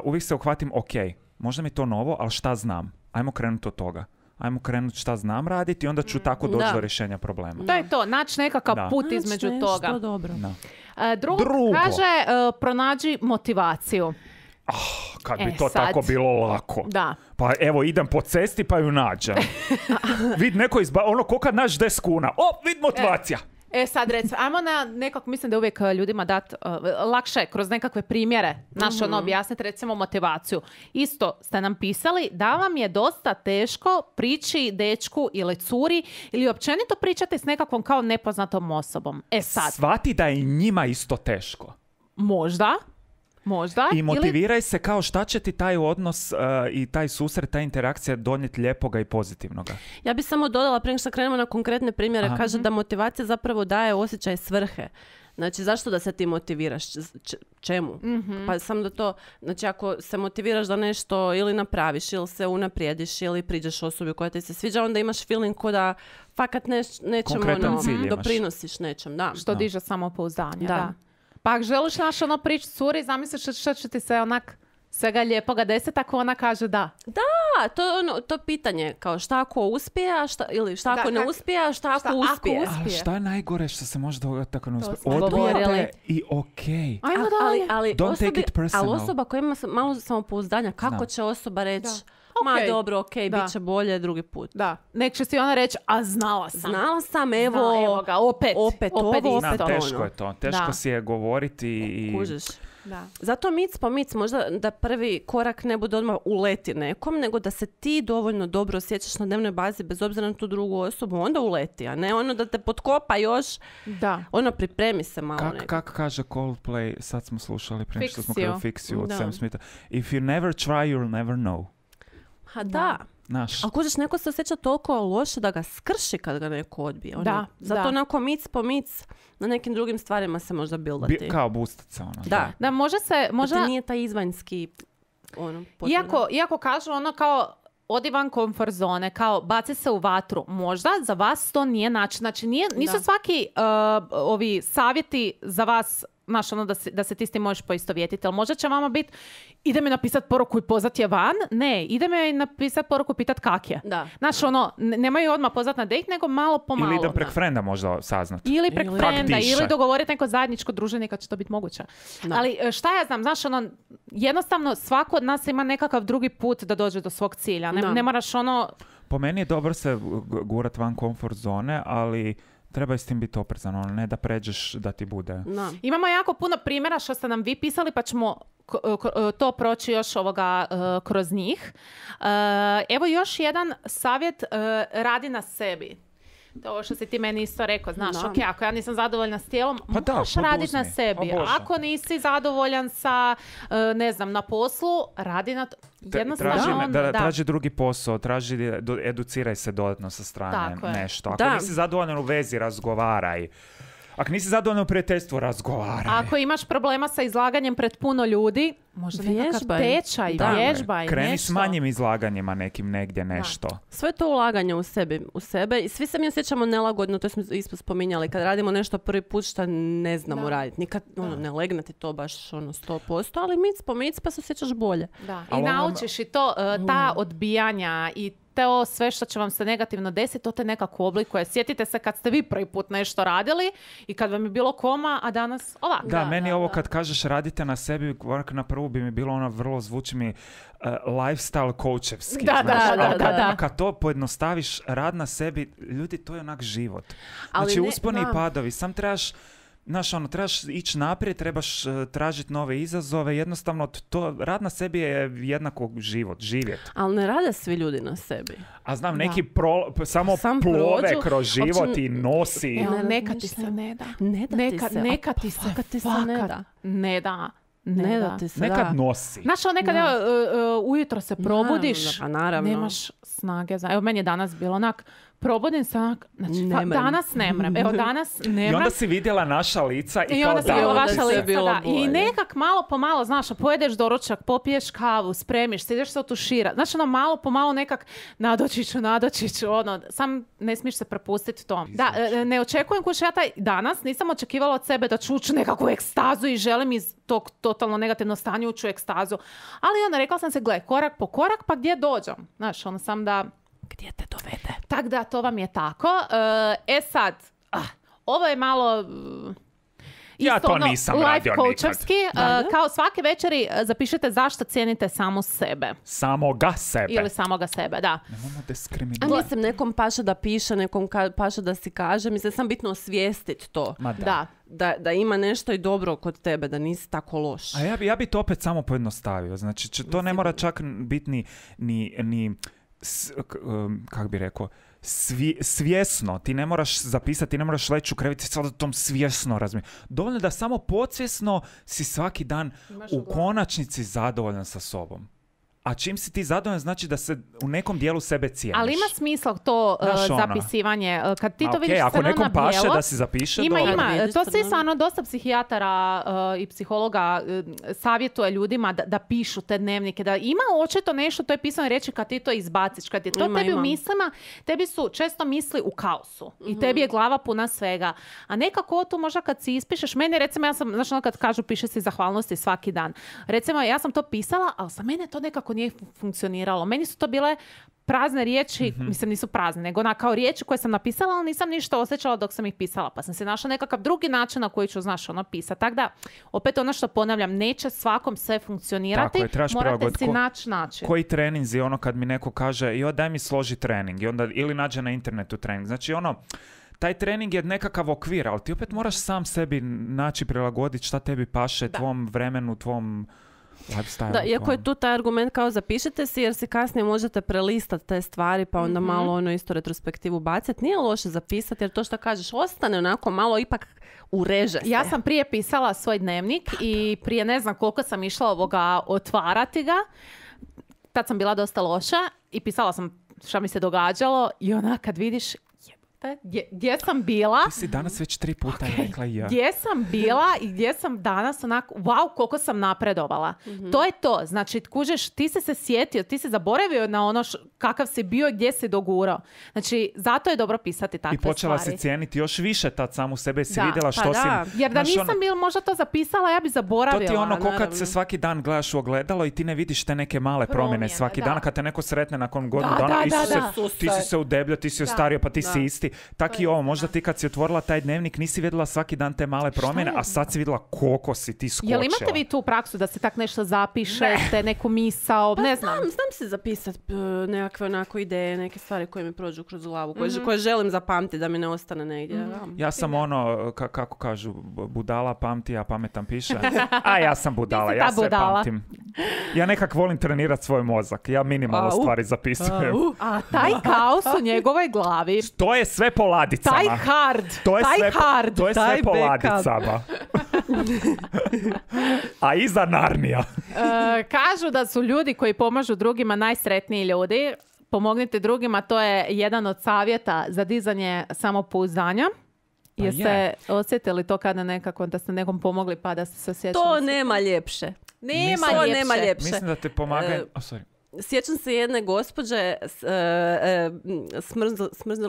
uvijek se uhvatim, ok, možda mi je to novo, ali šta znam? Ajmo krenuti od toga. Ajmo krenuti šta znam raditi i onda ću tako doći do rješenja problema. To je to, naći nekakav put između toga. Što dobro. Drugo, kaže, pronađi motivaciju. Kad bi to tako bilo lako. Da. Pa evo, idem po cesti pa ju nađem. Vid neko ko kad naš 10 kuna. Vid motivacija. Sad recimo, ajmo na nekako, mislim da je uvijek ljudima dati lakše kroz nekakve primjere objasniti recimo motivaciju. Isto ste nam pisali da vam je dosta teško prići dečku ili curi ili općenito pričati s nekakvom kao nepoznatom osobom. Sad. Shvati da je njima isto teško. Možda. I motiviraj se kao šta će ti taj odnos i taj susret, ta interakcija donijeti lijepoga i pozitivnoga. Ja bih samo dodala, prije što krenemo na konkretne primjere, kaže da motivacija zapravo daje osjećaj svrhe. Znači, zašto da se ti motiviraš? Čemu? Pa sam da to, znači ako se motiviraš da nešto ili napraviš, ili se unaprijediš, ili priđeš osobi koja ti se sviđa, onda imaš feeling ko da fakat nečem Konkretan cilj imaš. doprinosiš nečem, da. Što diže samopouzdanje, Da. da. Pa ako želiš pričati curi, zamisliš što će ti se onak svega lijepoga deseti ako ona kaže da. Da, to je to pitanje, kao šta ako uspije, ili šta ako ne uspije, a šta ako uspije. Ali šta je najgore što se može dogoditi tako ne uspije? smo Odbijete govorili. i okej. Ajmo dalje. Ali Don't take it personal. ali osoba koja ima malo samopouzdanja, kako Znam. će osoba reći, Da. ma Okej. dobro, Da. bit će bolje drugi put. Da, nek će si ona reći, a znala sam. Znala sam, evo, Evo ga, opet ovo, isto. Znam, to teško ono. je to. Teško Da. si je govoriti i... kužiš. Da. Zato mic po mic, možda da prvi korak ne bude odmah uleti nekom, nego da se ti dovoljno dobro osjećaš na dnevnoj bazi bez obzira na tu drugu osobu, onda uleti, a ne ono da te potkopa još, Da. ono pripremi se malo Kak kaže Coldplay, sad smo slušali prije što smo Fix You. krenuli Fix You od Da. Sam Smitha. If you never try, you'll never know. Ha da. Znaš, Ali kužiš, neko se osjeća toliko loše da ga skrši kad ga neko odbije. Ono. Da, Zato da. onako mic po mic na nekim drugim stvarima se možda bildati. kao bustica ono. Da. Da, može se, Da možda, ti nije taj izvanjski potvrda. iako kažu ono kao, odi van komfort zone, kao baci se u vatru. Možda za vas to nije način. Znači nisu Da. svaki ovi savjeti za vas, znaš, ono da se ti s tim možeš poistovjetiti. Ali možda će vama biti, ide mi napisati poruku i pozvat je van. Ne, ide mi napisati poruku i pitat kak je. Da. Znaš, ono, nemaju odmah pozvat na date, nego malo po malo. Ili idem prek frenda možda saznati. Ili prek Ili- frenda, Kak diše. ili dogovoriti neko zajedničko druženje kad će to biti moguće. Da. Ali šta ja znam, znaš, ono, jednostavno svako od nas ima nekakav drugi put da dođe do svog cilja. Da. Ne moraš ono... Po meni je dobro se gurat van komfort zone, ali treba i s tim biti oprezan, ono, ne da pređeš da ti bude. Da. Imamo jako puno primjera što ste nam vi pisali, pa ćemo to proći još kroz njih. Evo još jedan savjet, radi na sebi. To ovo što si ti meni isto rekao, znaš, Da. ok, ako ja nisam zadovoljna s tijelom, Pa da, moraš raditi poduzmi. na sebi. O Bože. Ako nisi zadovoljan sa, ne znam, na poslu, radi na to. Jednostavno, Traži drugi posao, educiraj se dodatno sa strane Tako je. nešto. Ako Da. nisi zadovoljan u vezi, razgovaraj. Ako nisi zadovoljan u prijateljstvu, razgovaraj. Ako imaš problema sa izlaganjem pred puno ljudi, možda nekakav Vježbaj. tečaj, Da. vježbaj, Kreni nešto. s manjim izlaganjima nekim negdje nešto. Sve to ulaganje u sebe i svi se mi osjećamo nelagodno, to smo isto spominjali, kad radimo nešto prvi put što ne znamo raditi. Nikad ne legne ti to baš 100%, ali mic po mic pa se osjećaš bolje. Da. I Ali ono- naučiš i to, ta odbijanja i to sve što će vam se negativno desiti, to te nekako oblikuje. Sjetite se kad ste vi prvi put nešto radili i kad vam je bilo koma, a danas ovako. Da, meni ovo kad kažeš radite na sebi, korak na prvu bi mi bilo ono vrlo zvuči mi lifestyle coachevski. Da, znaš, da, ali da. kad to pojednostaviš, rad na sebi, ljudi, to je onak život. Ali Znači, ne- usponi i da. padovi, sam trebaš trebaš ići naprijed, trebaš tražiti nove izazove, jednostavno rad na sebi je jednako život, živjet. Ali ne rade svi ljudi na sebi. A znam, Da. neki samo Sam plove prođu, kroz život uopće- i nosi. Evo, Ne neka ti razmišljam. se ne da. Ne da ti se. Neka A ti se, fakat ti se ne fakat da. ne da. Ne da ti se Nekad da. nosi. Znaš, ono nekad ujutro se probudiš, Naravno. nemaš snage za... Evo, meni je danas bilo onak, probudim se onak, znači, Ne mrem. danas ne mrem. Evo, danas ne I mrem. onda si vidjela naša lica i I kao onda si da, bila onda vaša je sve lica, bilo da. I bolje. nekak malo po malo, znaš, pojedeš doručak, popiješ kavu, spremiš se, ideš se otuširati. Znači, ono, malo po malo nekak nadoći ću, ono, sam ne smiješ se prepustiti tom. Da, ne očekujem kući, ja taj danas nisam očekivala od sebe da ću ući u nekakvu ekstazu i želim iz tog totalno negativnog stanja ući u ekstazu. Ali onda rekla sam se, gle, korak po korak, pa gdje dođem? Znaš, ono sam da... Gdje te dovede? Tak da, to vam je tako. Sad, ovo je malo... Ja isto to ono, nisam life radio coachovski. Da. Kao svake večeri zapišite zašto cijenite samo sebe. samoga sebe. Ili samoga sebe, da. Nemojmo A diskriminirati. mislim, nekom paše da piše, nekom paše da si kaže. Mislim, sam bitno osvijestiti to. Ma da. Da ima nešto i dobro kod tebe, da nisi tako loš. A ja bi to opet samo pojednostavio. Znači, to ne mora čak biti ni kak bi rekao, svjesno. Ti ne moraš zapisati, ti ne moraš leći u krevet i sad o tom svjesno razmišljati. Dovoljno da samo podsvjesno si svaki dan u konačnici zadovoljan sa sobom. a čim si ti zadovoljan znači da se u nekom dijelu sebe cijeniš. Ali ima smisla to Znaš, ono. zapisivanje. Kad ti to okej, vidiš ako crno nekom na paše bijelo, da si zapiše, ima. Vidiš To crno. svi stvarno dosta psihijatara i psihologa savjetuje ljudima da pišu te dnevnike. Da ima očito nešto, to je pisano reći kad ti to izbaciš. Kad je to Ima, tebi ima. u mislima, tebi su često misli u kaosu. I tebi je glava puna svega. A nekako tu možda kad si ispišeš, meni recimo, ja sam, znači ono kad kažu piše si zahvalnosti svaki dan. Recimo, ja sam to pisala, ali za mene to nekako nije funkcioniralo. Meni su to bile prazne riječi, mislim nisu prazne, nego kao riječi koje sam napisala, ali nisam ništa osjećala dok sam ih pisala. Pa sam se našla nekakav drugi način na koji ću, znaš, ono pisati. Tako da, opet ono što ponavljam, neće svakom sve funkcionirati, Tako je, trebaš morate prilagoditi. si naći način. Koji treninzi, ono kad mi neko kaže, joj daj mi složi trening, i onda ili nađe na internetu trening. Znači ono, taj trening je nekakav okvir, ali ti opet moraš sam sebi naći prilagoditi šta tebi paše, tvom vremenu, tvom lifestyle. Da, iako je tu taj argument kao zapišite si jer si kasnije možete prelistati te stvari pa onda malo ono isto retrospektivu baciti. Nije loše zapisati jer to što kažeš ostane onako malo ipak ureže se. Ja sam prije pisala svoj dnevnik i prije ne znam koliko sam išla otvarati ga. Tad sam bila dosta loša i pisala sam šta mi se događalo i ona kad vidiš gdje sam bila, Ti si danas već 3 puta rekla ja. gdje sam bila i gdje sam danas onako, wow, koliko sam napredovala. To je to. Znači, kužeš, ti si se sjetio, ti si zaboravio na ono kakav si bio i gdje si dogurao. Znači, zato je dobro pisati takve I počela stvari. si cijeniti još više tad samu sebe, si Da, vidjela pa što da. si... Jer da znaš, nisam bila možda to zapisala, ja bi To zaboravila. ti je ono ko kad naravno. se svaki dan gledaš u ogledalo i ti ne vidiš te neke male promjene Promjene, svaki da. dan, kad te neko sretne nakon godinu Da, dana, da, Isuse, da. ti si se udebljio, ti si ostario, pa ti si isti. Tak i ovo, možda istina. ti kad si otvorila taj dnevnik nisi vidjela svaki dan te male promjene, a sad si vidjela koliko si ti skočila. Jel imate vi tu praksu da se tak nešto zapišete, neku misao, ne znam. Znam si zapisati nekakve onako ideje, neke stvari koje mi prođu kroz glavu, koje želim zapamtiti da mi ne ostane negdje. Da. Ja sam ono, kako kažu, budala pamti, a pametan piše. A ja sam budala, Ti si ja ta sve budala. pamtim. Ja nekak volim trenirati svoj mozak, ja minimalno stvari zapisujem. A taj kaos u njegovoj glavi, To je sve po ladicama. taj hard, To je taj sve, hard, to je taj sve po backup. ladicama. A iza Narnija. Kažu da su ljudi koji pomažu drugima najsretniji ljudi. Pomognite drugima, to je jedan od savjeta za dizanje samopouzdanja. Pa Jeste je. osjetili to kada nekako da ste nekom pomogli pa da ste se osjećali? To nema ljepše. Nema To ljepše. nema ljepše. Mislim da te pomaga... sorry. Sjećam se jedne gospođe,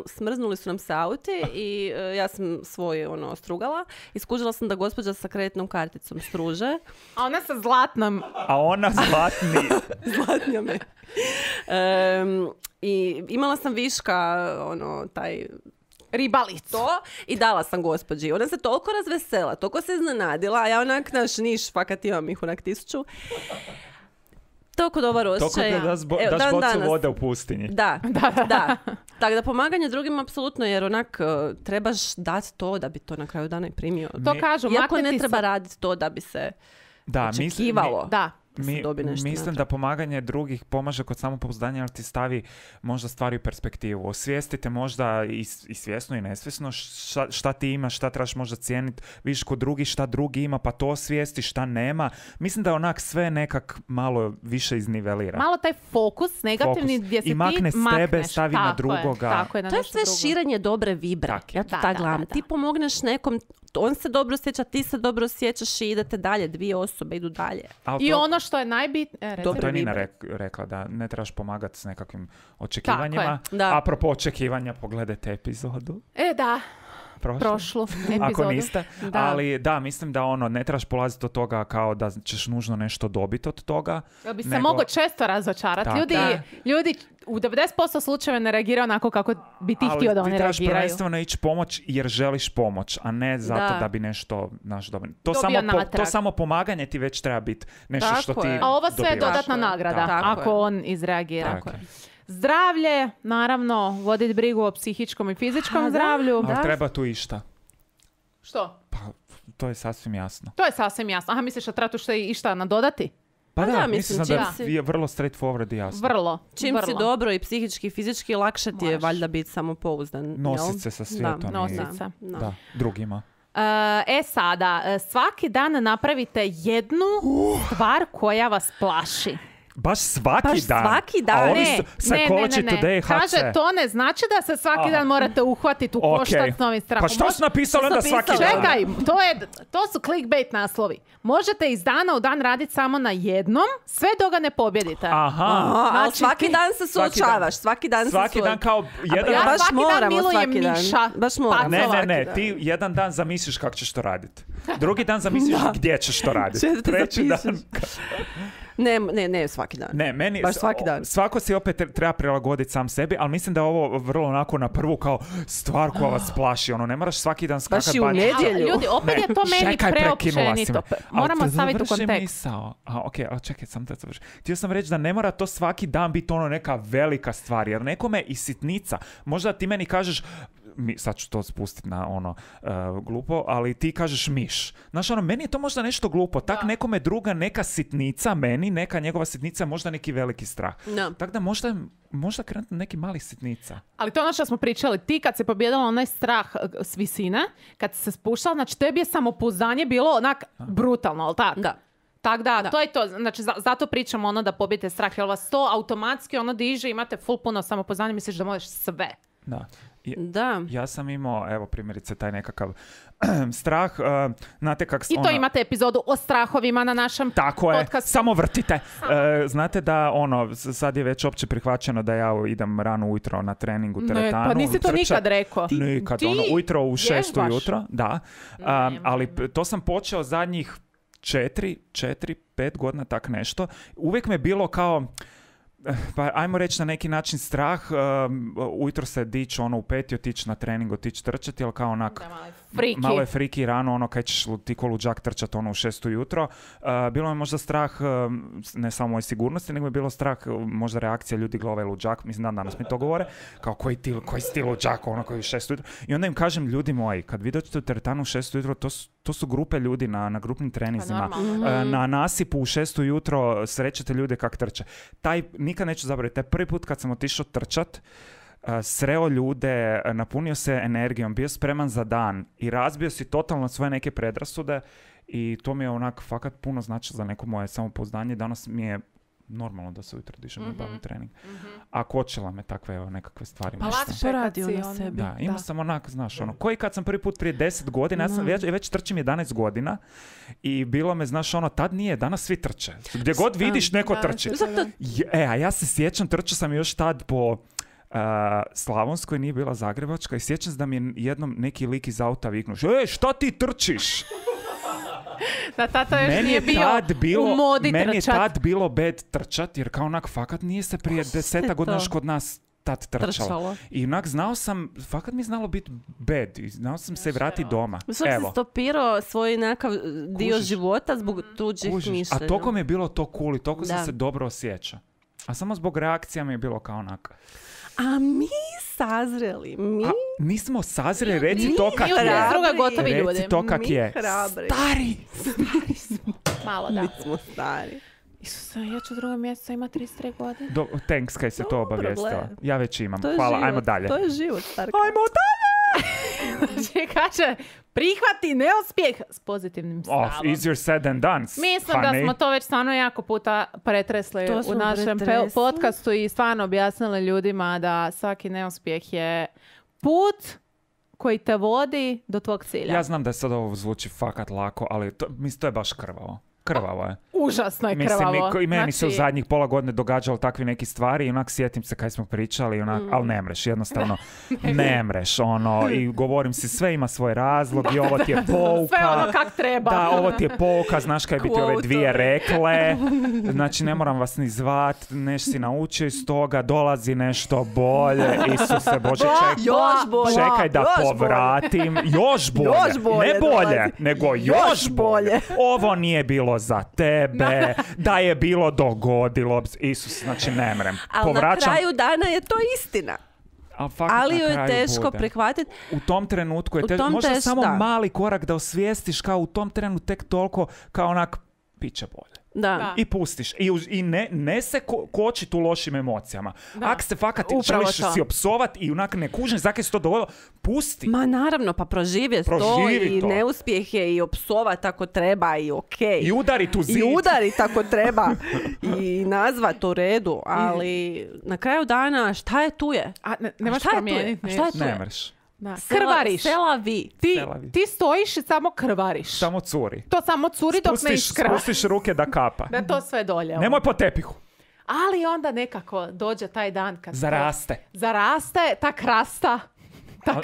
smrznuli su nam se auti i ja sam svoj strugala i skužila sam da gospođa sa kreditnom karticom struže. A ona sa zlatnom. A ona zlatni... Zlatnija me. I imala sam viška taj Ribalicu. to i dala sam gospođi. Ona se toliko razvesela, toliko se iznenadila, a ja onak naš niš, fakat imam ih onak 1000. Toliko dobar Toko osjećaj. da daš Dan bocu danas. vode u pustinji. Da. Tako da pomaganje drugima apsolutno, jer onak trebaš dati to da bi to na kraju dana i primio. To kažu, Iako makniti ne treba se- raditi to da bi se Da, očekivalo. Da. da se dobi nešto mislim natrag. da pomaganje drugih pomaže kod samopouzdanja, ali ti stavi možda stvari u perspektivu. Osvijestite možda i svjesno i nesvjesno šta ti imaš, šta trebaš možda cijeniti. Vidiš kod drugih šta drugi ima, pa to osvijesti, šta nema. Mislim da onak sve nekak malo više iznivelira. Malo taj fokus negativni gdje se I makne ti s tebe, makneš. stavi na Tako je, drugoga. Tako je, na To je nešto sve drugo. širenje dobre vibre. Tak je. Ja to Da, tak da, gledam. da, da. Ti pomogneš nekom, on se dobro osjeća, ti se dobro osjećaš i idete dalje. 2 osobe idu dalje. Ali I to- ono što je najbitnije... Dobro. To je Nina vibre. rekla, da ne trebaš pomagati s nekakvim očekivanjima. Tako je, da. Apropo očekivanja, pogledajte epizodu. Da, Prošlu. prošlu epizodu. Ako niste. Da. Ali da, mislim da ne trebaš polaziti od toga kao da ćeš nužno nešto dobiti od toga. Jel bi se nego- moglo često razočarati. Tako. Ljudi u 90% slučajeva ne reagiraju onako kako bi ti htio da Ali oni ti trebaš reagiraju. prvenstveno ići pomoć jer želiš pomoć, a ne zato Da. da bi nešto dobro. Dobio To natrag. samo pomaganje ti već treba biti nešto Tako što ti je. A ovo sve je dobivaš. dodatna Tako je. nagrada Tako ako je. on izreagira. Tako je. Zdravlje, naravno, voditi brigu o psihičkom i fizičkom da. zdravlju. Ali treba tu išta. Što? Pa, to je sasvim jasno. To je sasvim jasno. Aha, misliš da treba tu što i išta nadodati? Pa da, da, mislim, mislim da čim si- je vrlo straightforward i jasno. Vrlo. Čim vrlo. si dobro i psihički i fizički, lakše ti je Moraš. valjda biti samopouzdan. Nosit jel? se sa svijetom Da, i- Nosit se. Da. Da, drugima. Sada, svaki dan napravite jednu stvar koja vas plaši. Baš svaki Baš dan. svaki dan. A ovi Ne, su Psychology Today, HC. Kaže, to ne znači da se svaki dan morate uhvatiti u koštac s novim strahom. Pa što su napisali onda svaki dan? Čekaj, to su clickbait naslovi. Možete iz dana u dan raditi samo na jednom, sve dok ga ne pobjedite. Aha. Ali Znači, svaki ti- dan se suočavaš, svaki dan Svaki dan kao jedan Ja baš svaki dan moramo milujem svaki dan. miša. Baš moramo. Ne, Pacova. ne, ti jedan dan zamisliš kako ćeš to raditi. Drugi dan zamisliš gdje ćeš to raditi. Četvrti Treći dan... zapišeš. Ne, svaki dan. Ne, meni... Baš svaki dan. Svako si opet treba prilagoditi sam sebi, ali mislim da je ovo vrlo onako na prvu kao stvar koja vas plaši. Ono, ne moraš svaki dan Baš skakati i u nedjelju. Ali, ljudi, opet je to meni Čekaj, prekinula si me. preopćenito. Moramo Ali staviti u završi kontekst. misao. Ali čekaj, sam da završi. Htio sam reći da ne mora to svaki dan biti ono neka velika stvar, jer nekome i sitnica. Možda ti meni kažeš, sad ću to spustiti na ono glupo, ali ti kažeš miš. Znaš, ono, meni je to možda nešto glupo. Tak nekome druga neka sitnica, meni neka njegova sitnica, možda neki veliki strah. Da. Tako da možda krenuti neki mali sitnica. Ali to je ono što smo pričali. Ti kad se pobjedala onaj strah s visine, kad si se spuštala, znači tebi je samopouzdanje bilo onak brutalno, ali tako? Da. Tako da, to je to. Znači, zato pričamo ono da pobijete strah, jer vas to automatski ono diže, imate full puno samopouzdanja, misliš da možeš sve. Da. Da. Ja sam imao, evo primjerice, taj nekakav strah. Znate kak... I to imate epizodu o strahovima na našem Tako je, podcastu. samo vrtite. Znate da sad je već opće prihvaćeno da ja idem rano ujutro na trening u teretanu. Ne, pa nisi to trčat. nikad rekao. Nikad, Ti ujutro u 6 vježbaš. ujutro, da. Ali to sam počeo zadnjih 4-5 godina, tak nešto. Uvijek me bilo kao... Pa ajmo reći na neki način strah, ujutro se dići u 5 i otići na trening, otići trčati, ali kao onak Friki. malo je friki rano, ono kad ćeš ti ko luđak trčati u 6 ujutro. Bilo je možda strah, ne samo moje sigurnosti, nego je bilo strah možda reakcija ljudi glave luđak, mislim da danas mi to govore, kao koji si ti luđak, ono koji je 6 ujutro. I onda im kažem, ljudi moji, kad vi dođete u teretanu u 6 ujutro, to su grupe ljudi na grupnim treninzima. Na nasipu u 6 ujutro srećete ljude kak trče. Nikad neću zaboraviti, taj prvi put kad sam otišao trčat, sreo ljude, napunio se energijom, bio spreman za dan i razbio si totalno svoje neke predrasude i to mi je onak fakat puno znači za neko moje samopouzdanje. Danas mi je normalno da se ujutro dižem i bavim trening. A kočila me takve nekakve stvari. Pa nešto. lakše je kad Poradio si na on- sebi. Da, imao sam onak, znaš, ono, koji kad sam prvi put prije 10 godina, ja sam već trčim 11 godina i bilo me, znaš, ono, tad nije, danas svi trče. Gdje god vidiš, neko trči. A ja se sjećam, trčao sam još tad po Slavonskoj, nije bila Zagrebačka, i sjećam se da mi je jednom neki lik iz auta viknuo, šta ti trčiš? Da tata još Meni nije bio u modi meni je trčat. tad bilo bed trčat, jer kao onak, fakat nije se prije 10 godina još kod nas tad trčalo. I onak znao sam, fakat mi je znalo biti bed i znao sam se vratiti doma. Sam si stopirao svoj nekakav dio Kužiš. života zbog tuđih mišljenja. A toliko mi je bilo to cool i toliko sam Da. se dobro osjećao. A samo zbog reakcija mi je bilo kao onak. A mi sazreli, A nismo sazreli, reci to kak mi od nas je. druga gotovi ljudi. Reci to kak mi je. hrabri. Stari! Malo, da. Mi smo stari. Isuse, ja ću drugog mjeseca ima 33 godine. Thanks kaj se to Dobro, obavijestila. gle. Ja već imam. To je Hvala, život. ajmo dalje. To je život, Starka. Ajmo dalje! Znači, kaže, prihvati neuspjeh s pozitivnim stavom. Easier said than done. Mislim da smo to već stvarno jako puta pretresli To u smo našem pretresli. podcastu i stvarno objasnili ljudima da svaki neuspjeh je put koji te vodi do tvog cilja. Ja znam da sad ovo zvuči fakat lako, ali mislim to je baš krvavo. Krvavo je. Užasno je Mislim, krvavo. i meni se u Znači, zadnjih pola godine događalo takvi neki stvari i onak sjetim se kaj smo pričali, onak, ali ne mreš, jednostavno ne mreš, ono, i govorim si sve ima svoj razlog i ovo ti je pouka. sve ono kak treba. Da, ovo ti je pouka, znaš kaj bi ti ove Quote-ovi. dvije rekle, znači ne moram vas ni zvat, neš si naučio iz toga, dolazi nešto bolje, Isuse Bože, Još bolje. čekaj da Još povratim, još bolje, Još bolje ne bolje, dolazi. nego Još još bolje. bolje. Ovo nije bilo za tebe, da je bilo dogodilo, Isus, znači ne mrem. Ali na kraju dana je to istina. Ali ju je teško prihvatiti. U tom trenutku je U teško. tom Možda teško, samo da. mali korak da osvijestiš kao u tom trenu tek toliko kao onak bit će bolje. Da. I pustiš. I ne se kočit u lošim emocijama. Ak se fakat Upravo želiš to. si opsovat i onak ne kužiš zakaj se to dogodilo, pusti. Ma naravno, pa proživjeti to Proživi i to. neuspjehe i opsovat ako treba i okej. I udari tu zid. I udari tako treba. I nazvat u redu. Ali na kraju dana šta je tu je? A ne možeš šta je tu je? promijeniti. A šta je tu Ne je? mreš. Da. Krvariš. Sela vi. Ti stojiš i samo krvariš. Samo curi. To samo curi dok ne iskrva. Spustiš ruke da kapa. Da to sve dolje. Nemoj po tepihu. Ali onda nekako dođe taj dan kad Zaraste. ta krasta Ali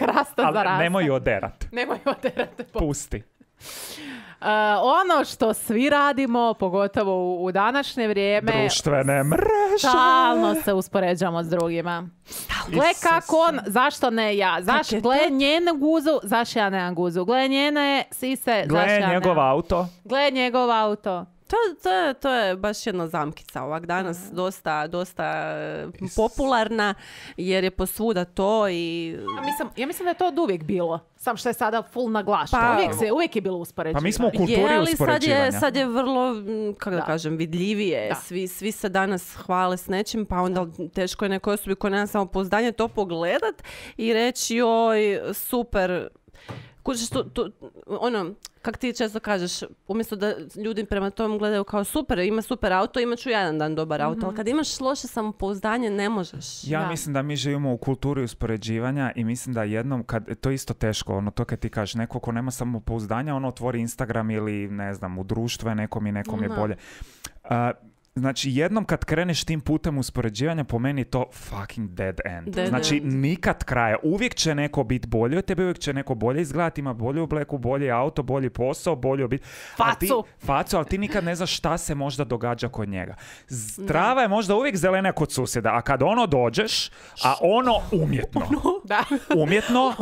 zaraste. nemoj ju oderat. Nemoj oderati. Pusti. Ono što svi radimo, pogotovo u današnje vrijeme, Društvene mreže. stalno se uspoređamo s drugima. Gle kako on, zašto ne ja? Gle njenu guzu, zašto ja nemam guzu? Gle njene sise, zašto ja Gle njegov nemam? auto. Gle njegov auto. To je baš jedna zamkica ovak danas dosta popularna jer je posvuda to i... Ja mislim da je to od uvijek bilo. Sam što je sada full naglašeno. Pa- Uvijek je bilo uspoređivanje. Pa mi smo u kulturi Je, ali uspoređivanja. sad je vrlo, kako da Da. kažem, vidljivije. Da. Svi se danas hvale s nečim, pa onda teško je nekoj osobi koja nema samopouzdanje to pogledat i reći joj, super. Kužiš, ono, kak ti često kažeš, umjesto da ljudi prema tom gledaju kao super, ima super auto, imat ću jedan dan dobar auto, ali kad imaš loše samopouzdanje, ne možeš. Ja Da. mislim da mi živimo u kulturi uspoređivanja i mislim da jednom, to je isto teško, ono to kad ti kažeš, neko ko nema samopouzdanja, ono otvori Instagram ili ne znam, u društvu je nekom je Da. bolje. Znači, jednom kad kreneš tim putem uspoređivanja, po meni je to fucking dead end. Dead Znači, end. nikad kraja. Uvijek će neko biti bolji od tebe, uvijek će neko bolje izgledati, ima bolju obleku, bolji auto, bolji posao, bolju obitelj. Facu, ali ti nikad ne znaš šta se možda događa kod njega. Trava je možda uvijek zelenija kod susjeda, a kad ono dođeš, a ono umjetno. Da. Umjetno,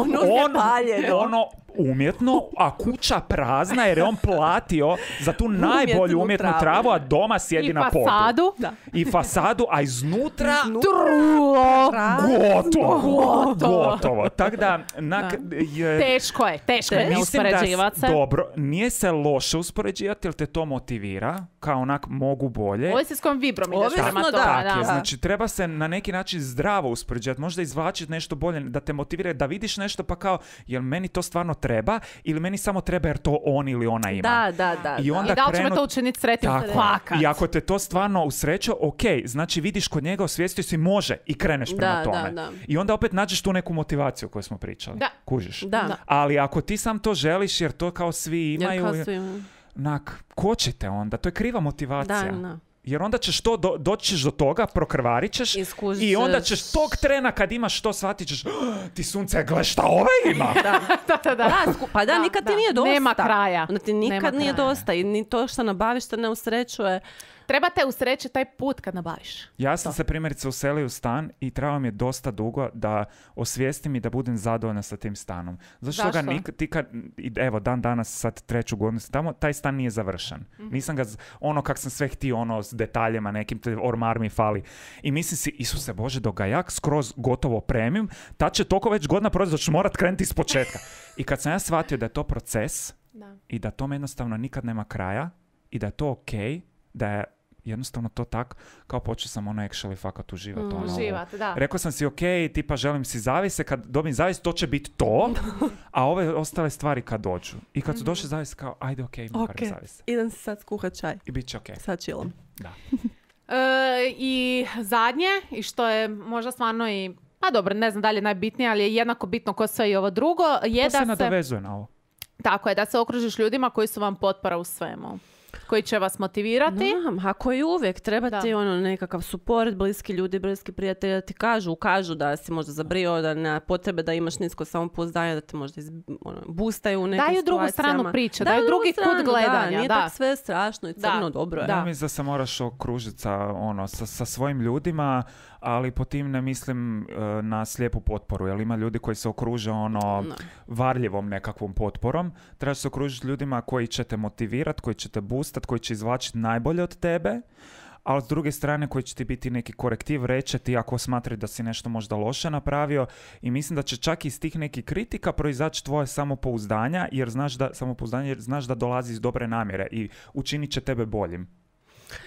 umjetno, a kuća prazna jer je on platio za tu najbolju umjetnu travu, a doma sjedi I na podu. fasadu. I fasadu, a iznutra Trulo. gotovo. Tako da, Teško je ne mislim da uspoređivati se. dobro, nije se loše uspoređivati jer te to motivira, kao onak mogu bolje. Ovisi s kojom vibrom ideš Ovisno, prema da. tome. Tak je, Da. znači treba se na neki način zdravo uspoređivati, možda izvlačiti nešto bolje, da te motivira, da vidiš nešto pa kao, jel meni to stvarno treba ili meni samo treba jer to on ili ona ima. Da. I onda I da li će me krenut- to učiniti sretnim? Tako. Fakat. I ako te to stvarno usreće, ok, znači vidiš kod njega, osvijestio si može i kreneš prema tome. Da. I onda opet nađeš tu neku motivaciju koju smo pričali. Da. Kužiš. Da. Ali ako ti sam to želiš jer to kao svi imaju, Jer kao svi- kočite onda, to je kriva motivacija. Da. Jer onda ćeš doći ćeš do toga, prokrvarit ćeš Iskušit i onda ćeš- ćeš tog trena kad imaš to shvatit ćeš ti sunce, gle šta ovaj ima. Pa da, nikad ti nije dosta. Nema kraja. Onda ti nikad Nema nije kraja. dosta i ni to što nabaviš te ne usrećuje. Treba te usrećiti taj put kad nabaviš. Ja sam se primjerice uselio u stan i trebalo mi je dosta dugo da osvijestim i da budem zadovoljna sa tim stanom. Zašto ga Zašto? ti kad, evo dan danas sad 3. godinu tamo, taj stan nije završen. Nisam ga, ono kak sam sve htio, ono s detaljima, nekim ormar mi fali. I mislim si, Isuse Bože, dok ga ja skroz gotovo opremim, tad će toliko već godina proći da ću morat krenuti iz početka. I kad sam ja shvatio da je to proces i da tome jednostavno nikad nema kraja i da je to okej, da je jednostavno to tak, kao počeo sam ono actually fakat uživati. Uživat, da. Rekao sam si, ok, tipa želim si zavise, kad dobijem zavis, to će biti to, a ove ostale stvari kad dođu. I kad su došli zavise, kao, ajde, ok, imam barem zavise. Idem si sad skuhat čaj. I bit će ok. Sad chillam. Da. I zadnje, i što je možda stvarno i, pa dobro, ne znam da li je najbitnije, ali je jednako bitno ko sve i ovo drugo, je To se da se, nadovezuje na ovo. tako je, da se okružiš ljudima koji su vam potpora u svemu. Koji će vas motivirati. Ako i uvijek treba ti ono nekakav suport, bliski ljudi, bliski prijatelji da ti kažu da si možda zabrio, da nema potrebe da imaš nisko samopouzdanje, da te možda boostaju u nekim Daju drugu situacijama. stranu priče, daju drugi kut gledanja. Nije Da. tako sve strašno i crno, dobro je. Ja mislim da se moraš okružiti sa svojim ljudima, ali po tim ne mislim na slijepu potporu, jer ima ljudi koji se okruže varljivom nekakvom potporom. Trebaš se okružiti ljudima koji će te motivirati, koji će te boostat, koji će izvlačiti najbolje od tebe, ali s druge strane koji će ti biti neki korektiv, reći ti ako smatraju da si nešto možda loše napravio i mislim da će čak iz tih nekih kritika proizaći tvoje samopouzdanja, jer znaš da dolazi iz dobre namjere i učinit će tebe boljim.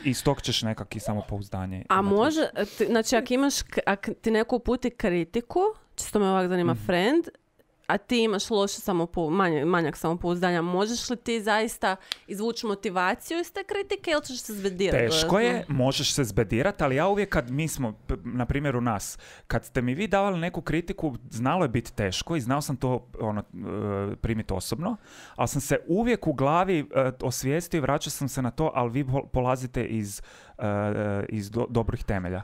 I iz tog ćeš nekakvi samopouzdanje. A može, znači ako ti neko uputi kritiku, čisto me ovak zanima friend, a ti imaš loše manjak samopouzdanja, možeš li ti zaista izvući motivaciju iz te kritike ili ćeš se zbedirati? Teško je, možeš se zbedirati, ali ja uvijek kad mi smo, na primjer u nas, kad ste mi vi davali neku kritiku, znalo je biti teško i znao sam to primiti osobno, ali sam se uvijek u glavi osvijestio i vraćao sam se na to, ali vi polazite iz dobrih temelja.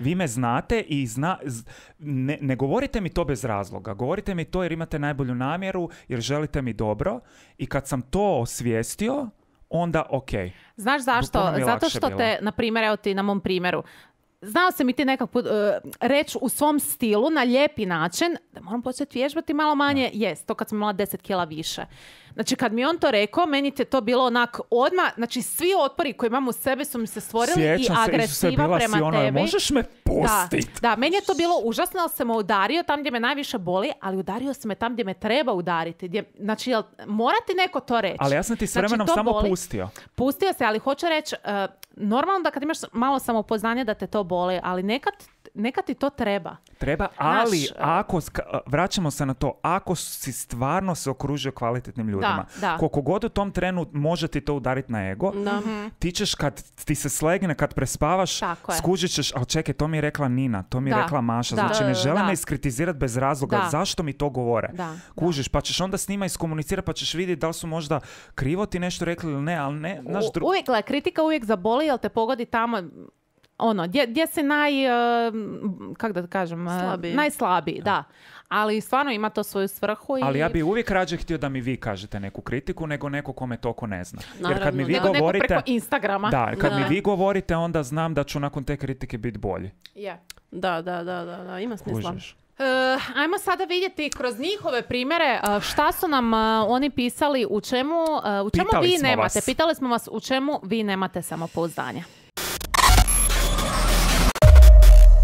Vi me znate i ne govorite mi to bez razloga. Govorite mi to jer imate najbolju namjeru, jer želite mi dobro. I kad sam to osvijestio, onda ok. Znaš zašto? Zato što te, na primjer, evo ti na mom primjeru, znao sam i ti nekak put reći u svom stilu na lijepi način da moram početi vježbati malo manje. Jest, to kad sam imala 10 kila više. Znači, kad mi on to rekao, meni je to bilo onak odmah, znači svi otpori koji imam u sebi su mi se stvorili. Sjećam i agresiva prema tebi. Možeš me pustiti? Da, meni je to bilo užasno, ali se me udario tam gdje me najviše boli, ali udario se me tam gdje me treba udariti. Znači, mora ti neko to reći. Ali ja sam ti s vremenom samo pustio. Pustio se, ali hoću reći, normalno da kad imaš malo samopouzdanja da te to boli, ali nekad ti to treba. Treba, ali ako, vraćamo se na to, ako si stvarno se okružio kvalitetnim ljudima, koliko god u tom trenu može ti to udariti na ego, ti ćeš kad ti se slegne, kad prespavaš, skužit ćeš, ali čekaj, to mi je rekla Nina, to mi je rekla Maša, znači ne žele me iskritizirati bez razloga, zašto mi to govore? Kužiš, pa ćeš onda s njima iskomunicirati, pa ćeš vidjeti da li su možda krivo ti nešto rekli ili ne, ali ne, uvijek, kritika uvijek zaboli, jer te pogodi tamo, gdje si najslabiji, da. Ali stvarno ima to svoju svrhu. Ali ja bi uvijek rađe htio da mi vi kažete neku kritiku nego neko kome toliko ne zna. Naravno, jer kad mi vi govorite, neko preko Instagrama. Da, kad mi vi govorite, onda znam da ću nakon te kritike biti bolji. Da, ima smisla. Ajmo sada vidjeti kroz njihove primjere šta su nam oni pisali, u čemu vi nemate. Pitali smo vas u čemu vi nemate samopouzdanja.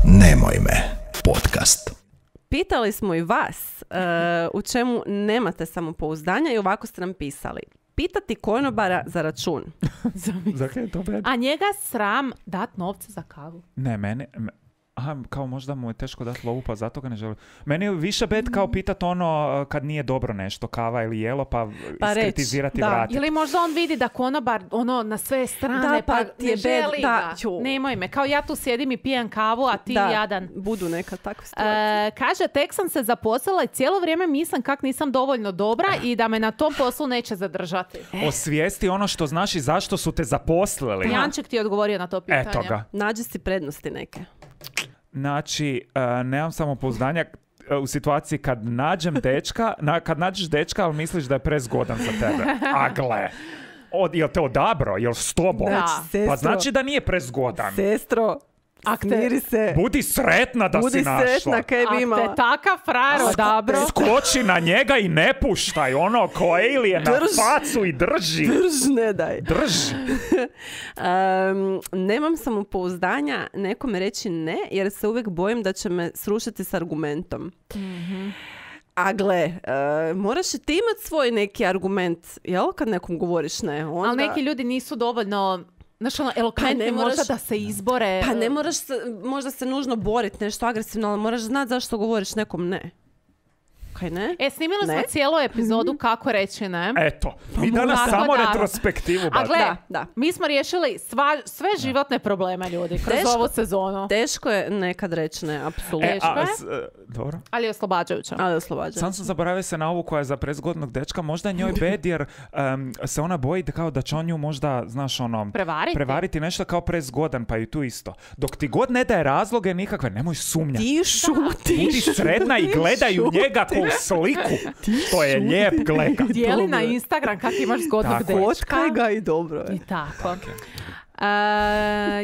Nemoj me, podcast. Pitali smo i vas u čemu nemate samopouzdanja i ovako ste nam pisali. Pitati konobara za račun. A njega sram dat novce za kavu. Ne, mene... Aha, kao možda mu je teško dati lovu, pa zato ga ne želim. Meni je više bed kao pitat kad nije dobro nešto, kava ili jelo, pa iskritizirati i vratiti. Ili možda on vidi da konobar na sve strane, pa ti je želi ga. Nemoj me, kao ja tu sjedim i pijem kavu, a ti jadan. Budu neka takva situacija. Kaže, tek sam se zaposlila i cijelo vrijeme mislim kak nisam dovoljno dobra i da me na tom poslu neće zadržati. Osvijesti ono što znaš i zašto su te zaposlili. Janček ti je odgovorio na to pitanje. Eto ga. Nađi si prednosti neke. Znači, nemam samopouzdanja u situaciji kad nađeš dečka, ali misliš da je prezgodan za tebe. A gle, jel te odabro? Jel s tobom? Pa znači da nije prezgodan. Sestro, smiri se. Budi sretna da si našla. Budi sretna kaj bi imala. Ak te takav frajer odabro. Skoči na njega i ne puštaj. Ko alien na facu i drži. Ne daj. Drži. Nemam samopouzdanja nekome reći ne, jer se uvijek bojim da će me srušiti s argumentom. A gle, moraš i ti imati svoj neki argument, jel? Kad nekom govoriš ne. Onda... Ali neki ljudi nisu dovoljno... Znaš, elokventni možda da se izbore. Pa ne moraš možda se nužno boriti nešto agresivno, ali moraš znati zašto govoriš nekom ne. Kaj ne? Snimili smo cijelu epizodu kako reći ne. Eto, mi danas samo retrospektivu. A gle, mi smo riješili sve životne probleme ljudi kroz ovu sezonu. Teško je nekad reći ne, apsolutno. Dobro. Ali je oslobađajuća. Sam zaboravio se na ovu koja je za prezgodnog dečka. Možda je njoj bed jer se ona boji da će on nju možda, znaš, prevariti nešto kao prezgodan, pa i tu isto. Dok ti god ne daje razloge nikakve, nemoj sumnjati. Ti šutiš. Budi sredna i gledaju njega u sliku. To je lijep gleda. Dijeli na Instagram kako imaš zgodnog dečka. Fotkaj ga i dobro. I tako.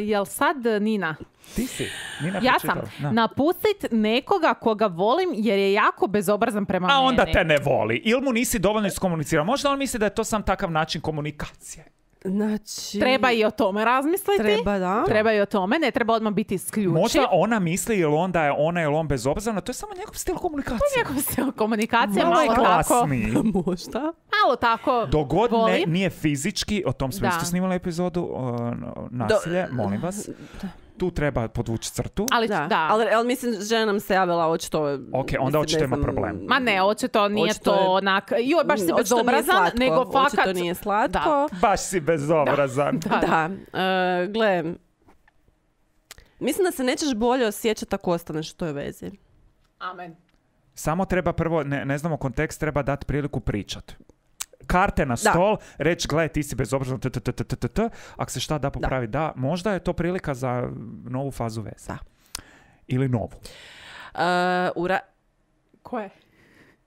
Jel sad Nina? Ti si. Nina ja sam. Napustit nekoga koga volim jer je jako bezobrazan prema meni. A onda te ne voli. Ili mu nisi dovoljno iskomunicirao. Možda on misli da je to sam takav način komunikacije. Znači... Treba i o tome razmisliti. Treba, da. Treba i o tome, ne treba odmah biti isključiv. Možda ona misli ili onda je ona ili on bezobrazan, to je samo njegov stil komunikacije. Njegov stil komunikacije Malo je malo tako, glasniji. Možda. malo tako Dogod voli. nije fizički, o tom smo Da. isto snimali epizodu, nasilje, molim vas. Tu treba podvući crtu. Ali, Da. da. Ali mislim, žena nam se javila očito... Ok, onda mislim, očito ne ima znam, problem. Ma ne, očito nije Očito to je- onak, joj, baš si očito nije bezobrazan, slatko, nego fakat... Očito nije slatko. Baš si bezobrazan. Da. Gle, mislim da se nećeš bolje osjećati ako ostaneš u toj vezi. Amen. Samo treba prvo, ne znamo kontekst, treba dati priliku pričat. Karte na stol, reći, gle, ti si bezobrazan, ako se šta da popravi, da, možda je to prilika za novu fazu veze. Da. Ili novu. Ko je?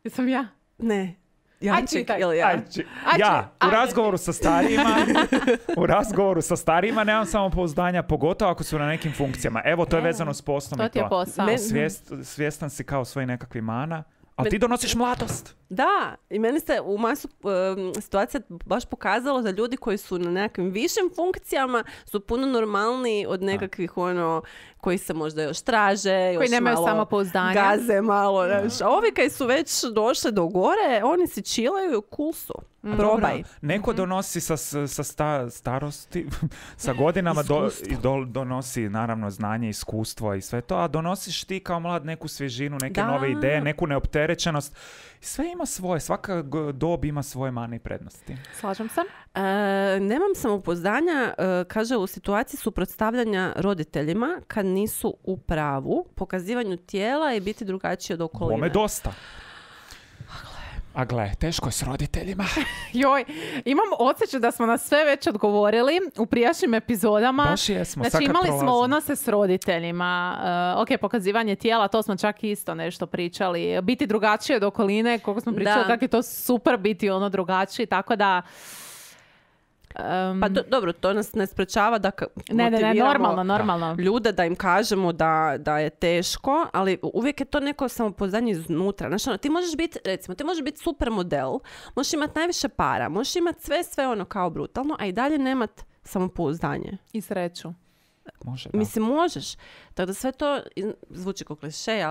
Jesam ja? Ne. Aj, čitaj. Ili ja? U razgovoru sa starijima nemam samopouzdanja, pogotovo ako su na nekim funkcijama. Evo, to je vezano s poslom To i ti je posao. Svjestan si kao svojih nekakvih mana, ali ti donosiš mladost. Da, i meni se u masu situacija baš pokazalo da ljudi koji su na nekakvim višim funkcijama su puno normalniji od nekakvih koji se možda još traže, Koji još nemaju malo samopouzdanja. gaze malo. Znaš. A ovi koji su već došli do gore, oni si chillaju, cool su. Probaj. Neko donosi sa starosti, sa godinama donosi naravno znanje, iskustvo i sve to, a donosiš ti kao mlad neku svježinu, neke nove ideje, neku neopterećenost. Sve ima svoje, svaka dob ima svoje mane i prednosti. Slažem se. Nemam samopouzdanja, kaže, u situaciji suprotstavljanja roditeljima kad nisu u pravu, pokazivanju tijela i biti drugačiji od okoline. Bome dosta. A gle, teško je s roditeljima. Joj, imam osjećaj da smo na sve već odgovorili u prijašnjim epizodama. Baš jesmo. Znači imali smo odnose s roditeljima. Pokazivanje tijela, to smo čak isto nešto pričali. Biti drugačiji od okoline, koliko smo pričali, kako je to super biti drugačiji, tako da... Pa dobro, to nas ne sprečava da motiviramo normalno. Ljude da im kažemo da je teško, ali uvijek je to neko samopouzdanje iznutra. Znači, ti možeš biti, recimo, ti možeš biti super model, možeš imati najviše para, možeš imati sve kao brutalno, a i dalje nemat samopouzdanje. I sreću. Može, da. Mislim, možeš. Tako da sve to zvuči kao kliše,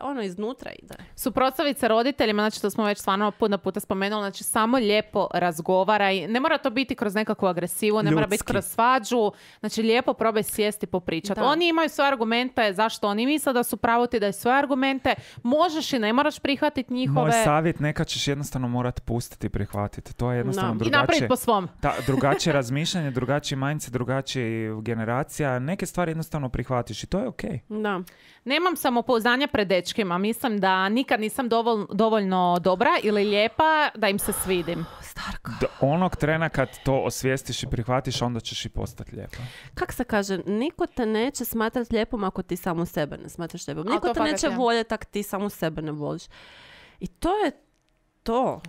ali iznutra ide. Suprotstaviti se roditeljima, znači to smo već stvarno puno puta spomenuli, znači samo lijepo razgovaraj. Ne mora to biti kroz nekakvu agresivu, ne mora biti kroz svađu. Znači lijepo probaj sjesti popričati. Oni imaju svoje argumente, zašto oni misle da su pravo, ti daj svoje argumente. Možeš i ne moraš prihvatiti njihove... Moj savjet, nekad ćeš jednostavno morati pustiti i prihvatiti. To je jednostavno drugačije. I napraviti po svom. Drugačije razmišljanje, drugačiji mindset, drugačija generacija. Neke stvari jednostavno prihvatiš i to je okej. Da. Nemam samopouzdanja pred dečkima. Mislim da nikad nisam dovoljno dobra ili lijepa da im se svidim. Starka. Onog trena kad to osvijestiš i prihvatiš, onda ćeš i postati lijepa. Kak se kaže, niko te neće smatrati lijepom ako ti samo sebe ne smatraš lijepom. Niko te neće voljeti ako ti samo sebe ne voliš. I to je to.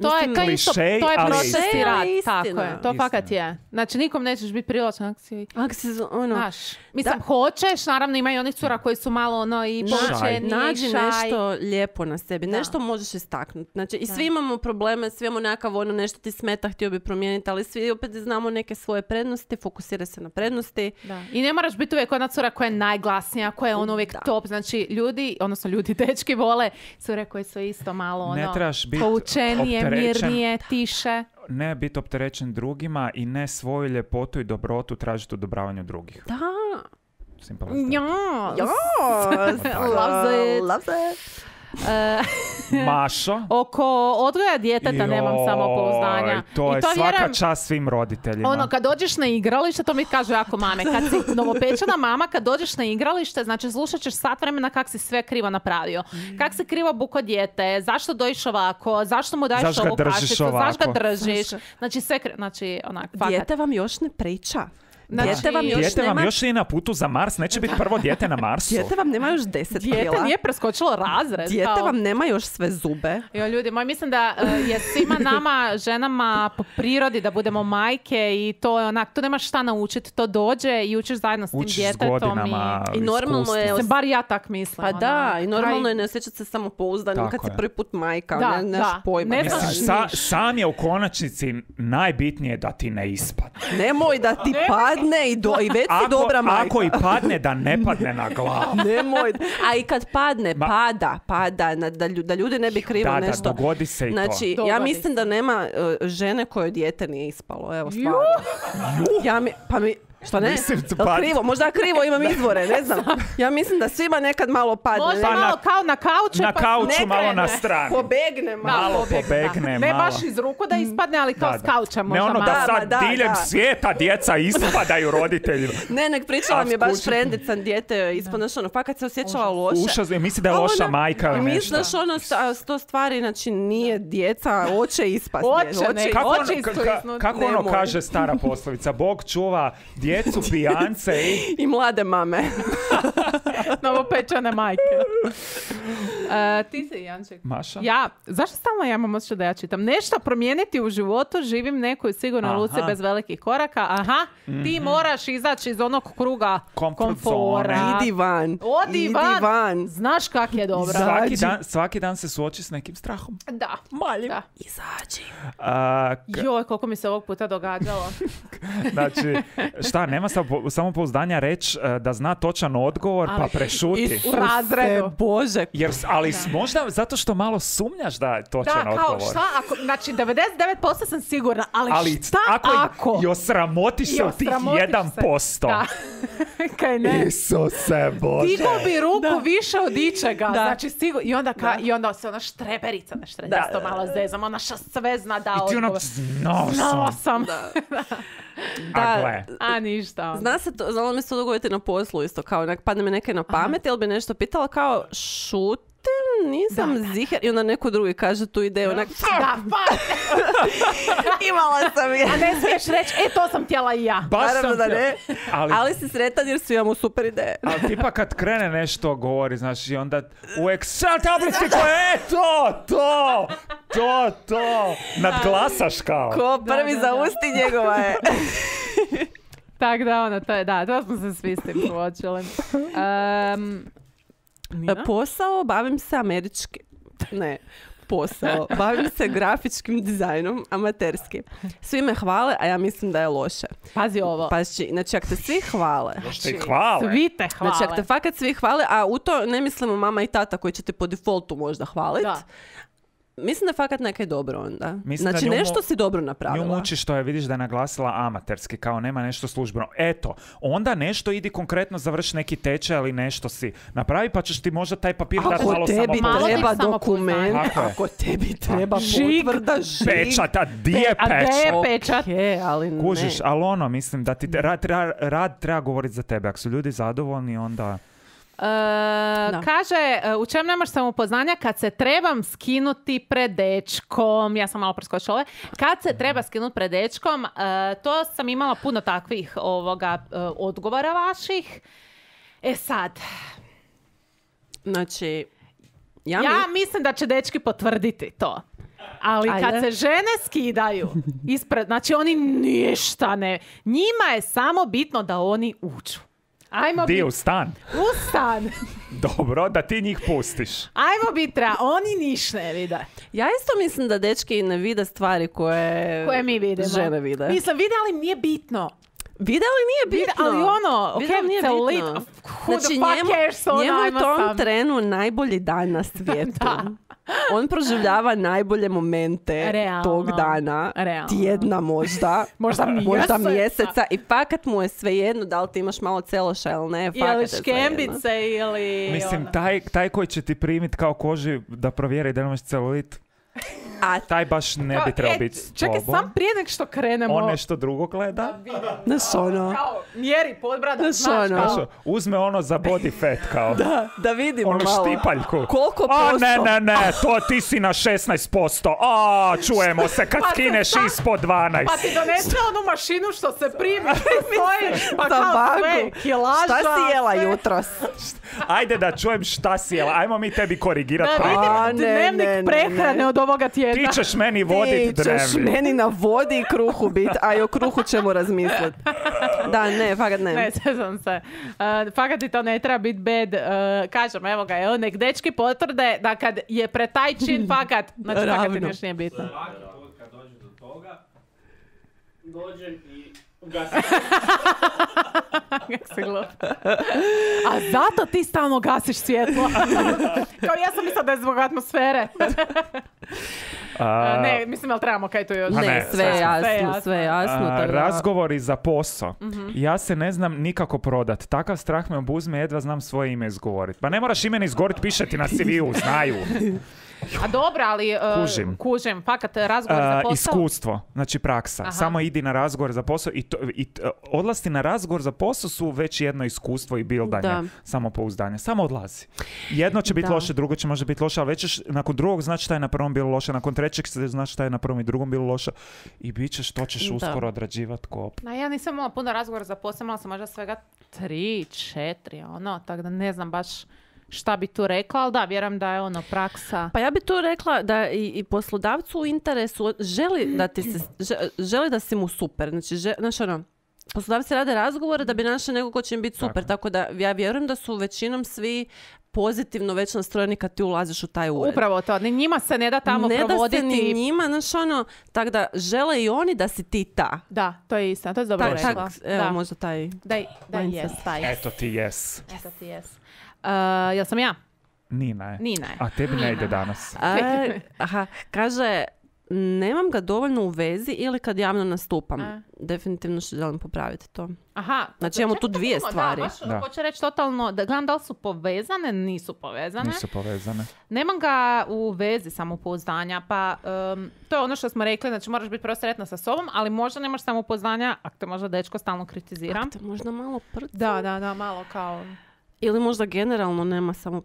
To je klišej, to je proces i rad. Istina. Tako je, to fakat je. Znači, nikom nećeš biti privlačan ako si znaš. Mislim, hoćeš, naravno ima i onih cura koji su malo i povučeni. Nađi nešto lijepo na sebi, nešto možeš istaknuti. Znači, i svi imamo probleme, svi imamo nekakav nešto ti smeta, htio bi promijeniti, ali svi opet znamo neke svoje prednosti, fokusira se na prednosti. Da. I ne moraš biti uvijek ona cura koja je najglasnija, koja je uvijek top. Znači, ljudi, dečki vole cure koje su isto malo ne trebaš biti poučenije, mirnije, tiše. Ne biti opterećen drugima i ne svoju ljepotu i dobrotu tražiti u odobravanju drugih. Da. Loves it. Mašo? Oko odgoja djeteta nemam samopouzdanja. To je svaka čast svim roditeljima. Kad dođeš na igralište, to mi kažu jako mame. Kad si novopečena mama, kad dođeš na igralište, znači slušat ćeš sat vremena kak si sve krivo napravio. Kak si krivo buko dijete, zašto dojiš ovako, zašto mu daješ ovu kašicu, zašto ga držiš. Znači sve znači onak, fakat. Dijete vam još ne priča. Znači, Dijete vam još Dijete vam nema- još nije na putu za Mars, neće biti prvo dijete na Marsu. Dijete vam nema još 10 dijete kila. nije preskočilo razred. Dijete kao- vam nema još sve zube. Jo, ljudi moji, mislim da je svima nama, ženama, po prirodi da budemo majke i to je onak, tu nemaš šta naučiti, to dođe i učiš zajedno s tim Učiš s djetetom. godinama I normalno iskustva. je- Bar ja tak mislim. Pa da, onak, i normalno je ne osjećati se samopouzdano Tako kad si je. prvi put majka, Da, nemaš da. pojma. Ne šta znaš Mislim, radiš. sam je u konačnici najbitnije da ti ne ispadne. Nemoj da ti padne i već si dobra majka. Ako i padne, da ne padne na glavu. Nemoj. A i kad padne, pada, da ljudi ne bi krivo Da, nešto. dogodi se i to. Znači, ja Dogodi mislim se. da nema žene kojoj dijete nije ispalo. Evo, stvarno. Što ne? Mislim, Jel krivo? Možda ja krivo imam izvore, ne znam. Ja mislim da svima nekad malo padne. Možda Pa malo na- kao na kauču. Na pa kauču ne malo na krene. stranu. Pobegne malo. Malo Pobegne, pobegne, Ne malo. baš iz ruku da ispadne, ali kao Da, s da. kauča Ne možda ono malo. da sad Da, diljem da. svijeta djeca ispadaju roditeljima. Ne, nek pričala A mi je baš skući. frendica dijete ispod, znaš, ono, fakat se osjećala loše. Užas, misli da je A loša ona- majka ili I nešto. misliš ono, sto stvari, znači nije djeca, hoće ispasti. Hoće, ne. Kako, Hoće ono, iskliznuti. kako ono Nemoj. kaže stara poslovica? Bog čuva djecu, pijance i... I mlade mame. Novopečene majke. Ti si, Janček. Maša? Ja, zašto stalno ja imam osjećaj da ja čitam? Nešto promijeniti u životu, živim nekoj sigurnoj Aha. luci bez velikih koraka. Aha, ti moraš izaći iz onog kruga Comfort komfora. zone. Idi van. Odi Idi van. van. Znaš kak je dobro. Svaki dan se suoči s nekim strahom. Da. Da. Izađi. Joj, koliko mi se ovog puta događalo. Znači, šta, nema samopouzdanja reći da zna točan odgovor, pa prešuti. U razredu. Bože. Jer, ali možda zato što malo sumnjaš da je točan Da, kao odgovor. šta ako, znači 99% sam sigurna, ali šta ako? ako? I osramotiš se u tih osramotiš se. 1%. Da. Kaj ne? Isuse Bože. Digo bi ruku više od ičega, Da. znači sigurno, i onda se ona štreberica, da to malo zezam, ona sve zna da I ti ono, odgovor. znao Znala sam. sam. A gle. A ništa. ono. Zna se to, znalo mi se to dogoditi na poslu isto, kao padne mi neke na pamet, ili bi nešto pitala kao šutim, nisam ziher, i onda neko drugi kaže tu ideju, onak, Da, pa, imala sam je. a ne smiješ reći, to sam htjela i ja. Baš Naravno sam da htio- ne. Ali, Ali si sretan jer svi imamo super ideje. ali tipa kad krene nešto govori, znaš, i onda u Excel tablici koje, to, nadglasaš kao. Ko prvi da, za da. usti njegova je. Tak da, ono, to smo se svi s tim suočili. Nina? Posao, bavim se posao. Bavim se grafičkim dizajnom, amaterski. Svi me hvale, a ja mislim da je loše. Pazi ovo. Pa znači, ako te svi hvale, Što ih hvale. Svi te hvale. znači, ako te fakat svi hvale, a u to ne mislimo mama i tata koji će te po defaultu možda hvalit, Da. mislim da je fakat nekaj dobro onda. Mislim da Znači, nju nešto si dobro Nju napravila. muči što je, vidiš da je naglasila amaterski, kao nema nešto službeno. Eto, onda nešto idi konkretno završi neki tečaj ili nešto si napravi, pa ćeš ti možda taj papir dati Ako malo tebi Malo samopouzdanja. treba biti samopouzdanje. dokument, Tako je. ako tebi treba Žig. potvrda, žig. Pečat, a di je A gdje je pečat? pečat? Okej, ali ne. Kužiš, ali ono, mislim da ti rad treba govoriti za tebe. Ako su ljudi zadovoljni, onda... Kaže, u čem nemaš samopouzdanja kad se trebam skinuti pred dečkom. Ja sam malo preskočila ove. Kad se treba skinuti pred dečkom, to sam imala puno takvih odgovora vaših. Sad, Znači, ja mislim da će dečki potvrditi to. Ali Ajde. kad se žene skidaju ispred, znači oni ništa ne... Njima je samo bitno da oni uđu. Ajmo Di u biti stan? u stan. Dobro, da ti njih pustiš. Ajmo biti oni niš ne vide. ja isto mislim da dečki ne vide stvari koje Koje mi vidimo. žene vide. Mislim, vide, ali nije bitno. Vide li nije Vide, bitno? ali ono, Vide ok, li nije celulit, bitno? who the fuck cares, ono, njemu je ajmo u tom sam. trenu najbolji dan na svijetu. Da. On proživljava najbolje momente Realno. tog dana, Realno. tjedna možda, Možda možda mjeseca. mjeseca i fakat mu je svejedno da li ti imaš malo celoša ili ne, fakat Ili je svejedno. škembice ili... Mislim, ono. taj koji će ti primit kao koži da provjeri da nemaš celulit. A Taj baš ne bi trebao biti s Čekaj, tobom. sam prije nek što krenemo. On nešto drugo gleda. znaš ono, Kao, mjeri podbrada, Znaš, ono. kao. Znaš, uzme ono za body fat kao. da vidimo Ono malo. štipaljku. Koliko A posto? ne, to ti si na 16%. A, čujemo se kad Pa skineš sad- ispod 12. Pa ti donese onu mašinu što se primi, stoji, pa Za kao sve, banku. kilaža. Šta si jela sve. jutros? Ajde da čujem šta si jela. Ajmo mi tebi korigirati Da prehranu. A, vidim ne, dnevnik ne, ne, prehrane ne. od ovoga tjedna. Ti ćeš meni voditi Ti ćeš dnevnik. meni na vodi i kruhu bit, a i o kruhu ćemo razmisliti. Da, ne, fakat ne. Ne, sjećam se. Fakat ti to ne treba biti bed. Kažem, evo ga, evo, nek dečki potvrde da kad je pre taj čin fakat, znači fakat ti Ravno. još nije bitno. Svaki put kad dođe do toga, dođem i ugasim. Kako si glup. A zato ti stalno gasiš svjetlo. Kao ja sam mislila da je zbog atmosfere. Ne, mislim, ali trebamo kaj tu još. A Ne, ne, sve je sve jasno, jasno. sve je jasno. tako da- Razgovori za posao. Ja se ne znam nikako prodat. Takav strah me obuzme, jedva znam svoje ime izgovoriti. Pa ne moraš ime ni izgovoriti, piše ti na CV-u, znaju. A dobro, ali kužim. Fakat, razgovor za posao. Iskustvo, znači praksa. Aha. Samo idi na razgovor za posao odlasci na razgovor za posao su već jedno iskustvo i bildanje, Da. samopouzdanje. Samo odlazi. Jedno će biti Da. loše, drugo će možda biti loše, ali već ćeš nakon drugog znači šta je na prvom bilo loše, nakon trećeg znači šta je na prvom i drugom bilo loše i bit ćeš, to ćeš Da. uskoro odrađivati kop. No, ja nisam imala puno razgovora za posao, imala sam možda svega 3-4, ono, tako da ne znam baš šta bi tu rekla, ali da, vjerujem da je ono praksa. Pa ja bi tu rekla da i poslodavcu u interesu želi da si mu super. Znači, znaš ono, poslodavci rade razgovore da bi našli nekog ko će im biti super. Tako da ja vjerujem da su većinom svi pozitivno već nastrojeni kad ti ulaziš u taj ured. Upravo to, ni njima se ne da tamo ne provoditi. da se ni njima, znaš ono, tako da žele i oni da si ti ta. Da, to je istina, to je dobro rekla. Evo, Da. možda taj... Da mindset. jes, taj. Eto ti jes. Eto ti jes. Jel sam ja? Nina je. Nina je. A tebi ne ide danas. Kaže, nemam ga dovoljno u vezi ili kad javno nastupam. A. Definitivno što želim popraviti to. Aha. Znači, imamo tu dvije stvari. Da, baš Da. hoće reći totalno, da gledam da li su povezane, nisu povezane. Nisu povezane. Nemam ga u vezi samopouzdanja, pa to je ono što smo rekli, znači moraš biti prvo sretna sa sobom, ali možda nemaš samopouzdanja, ako te možda dečko stalno kritizira. Te možda malo prca. Da, malo kao... Ili možda generalno nema samo...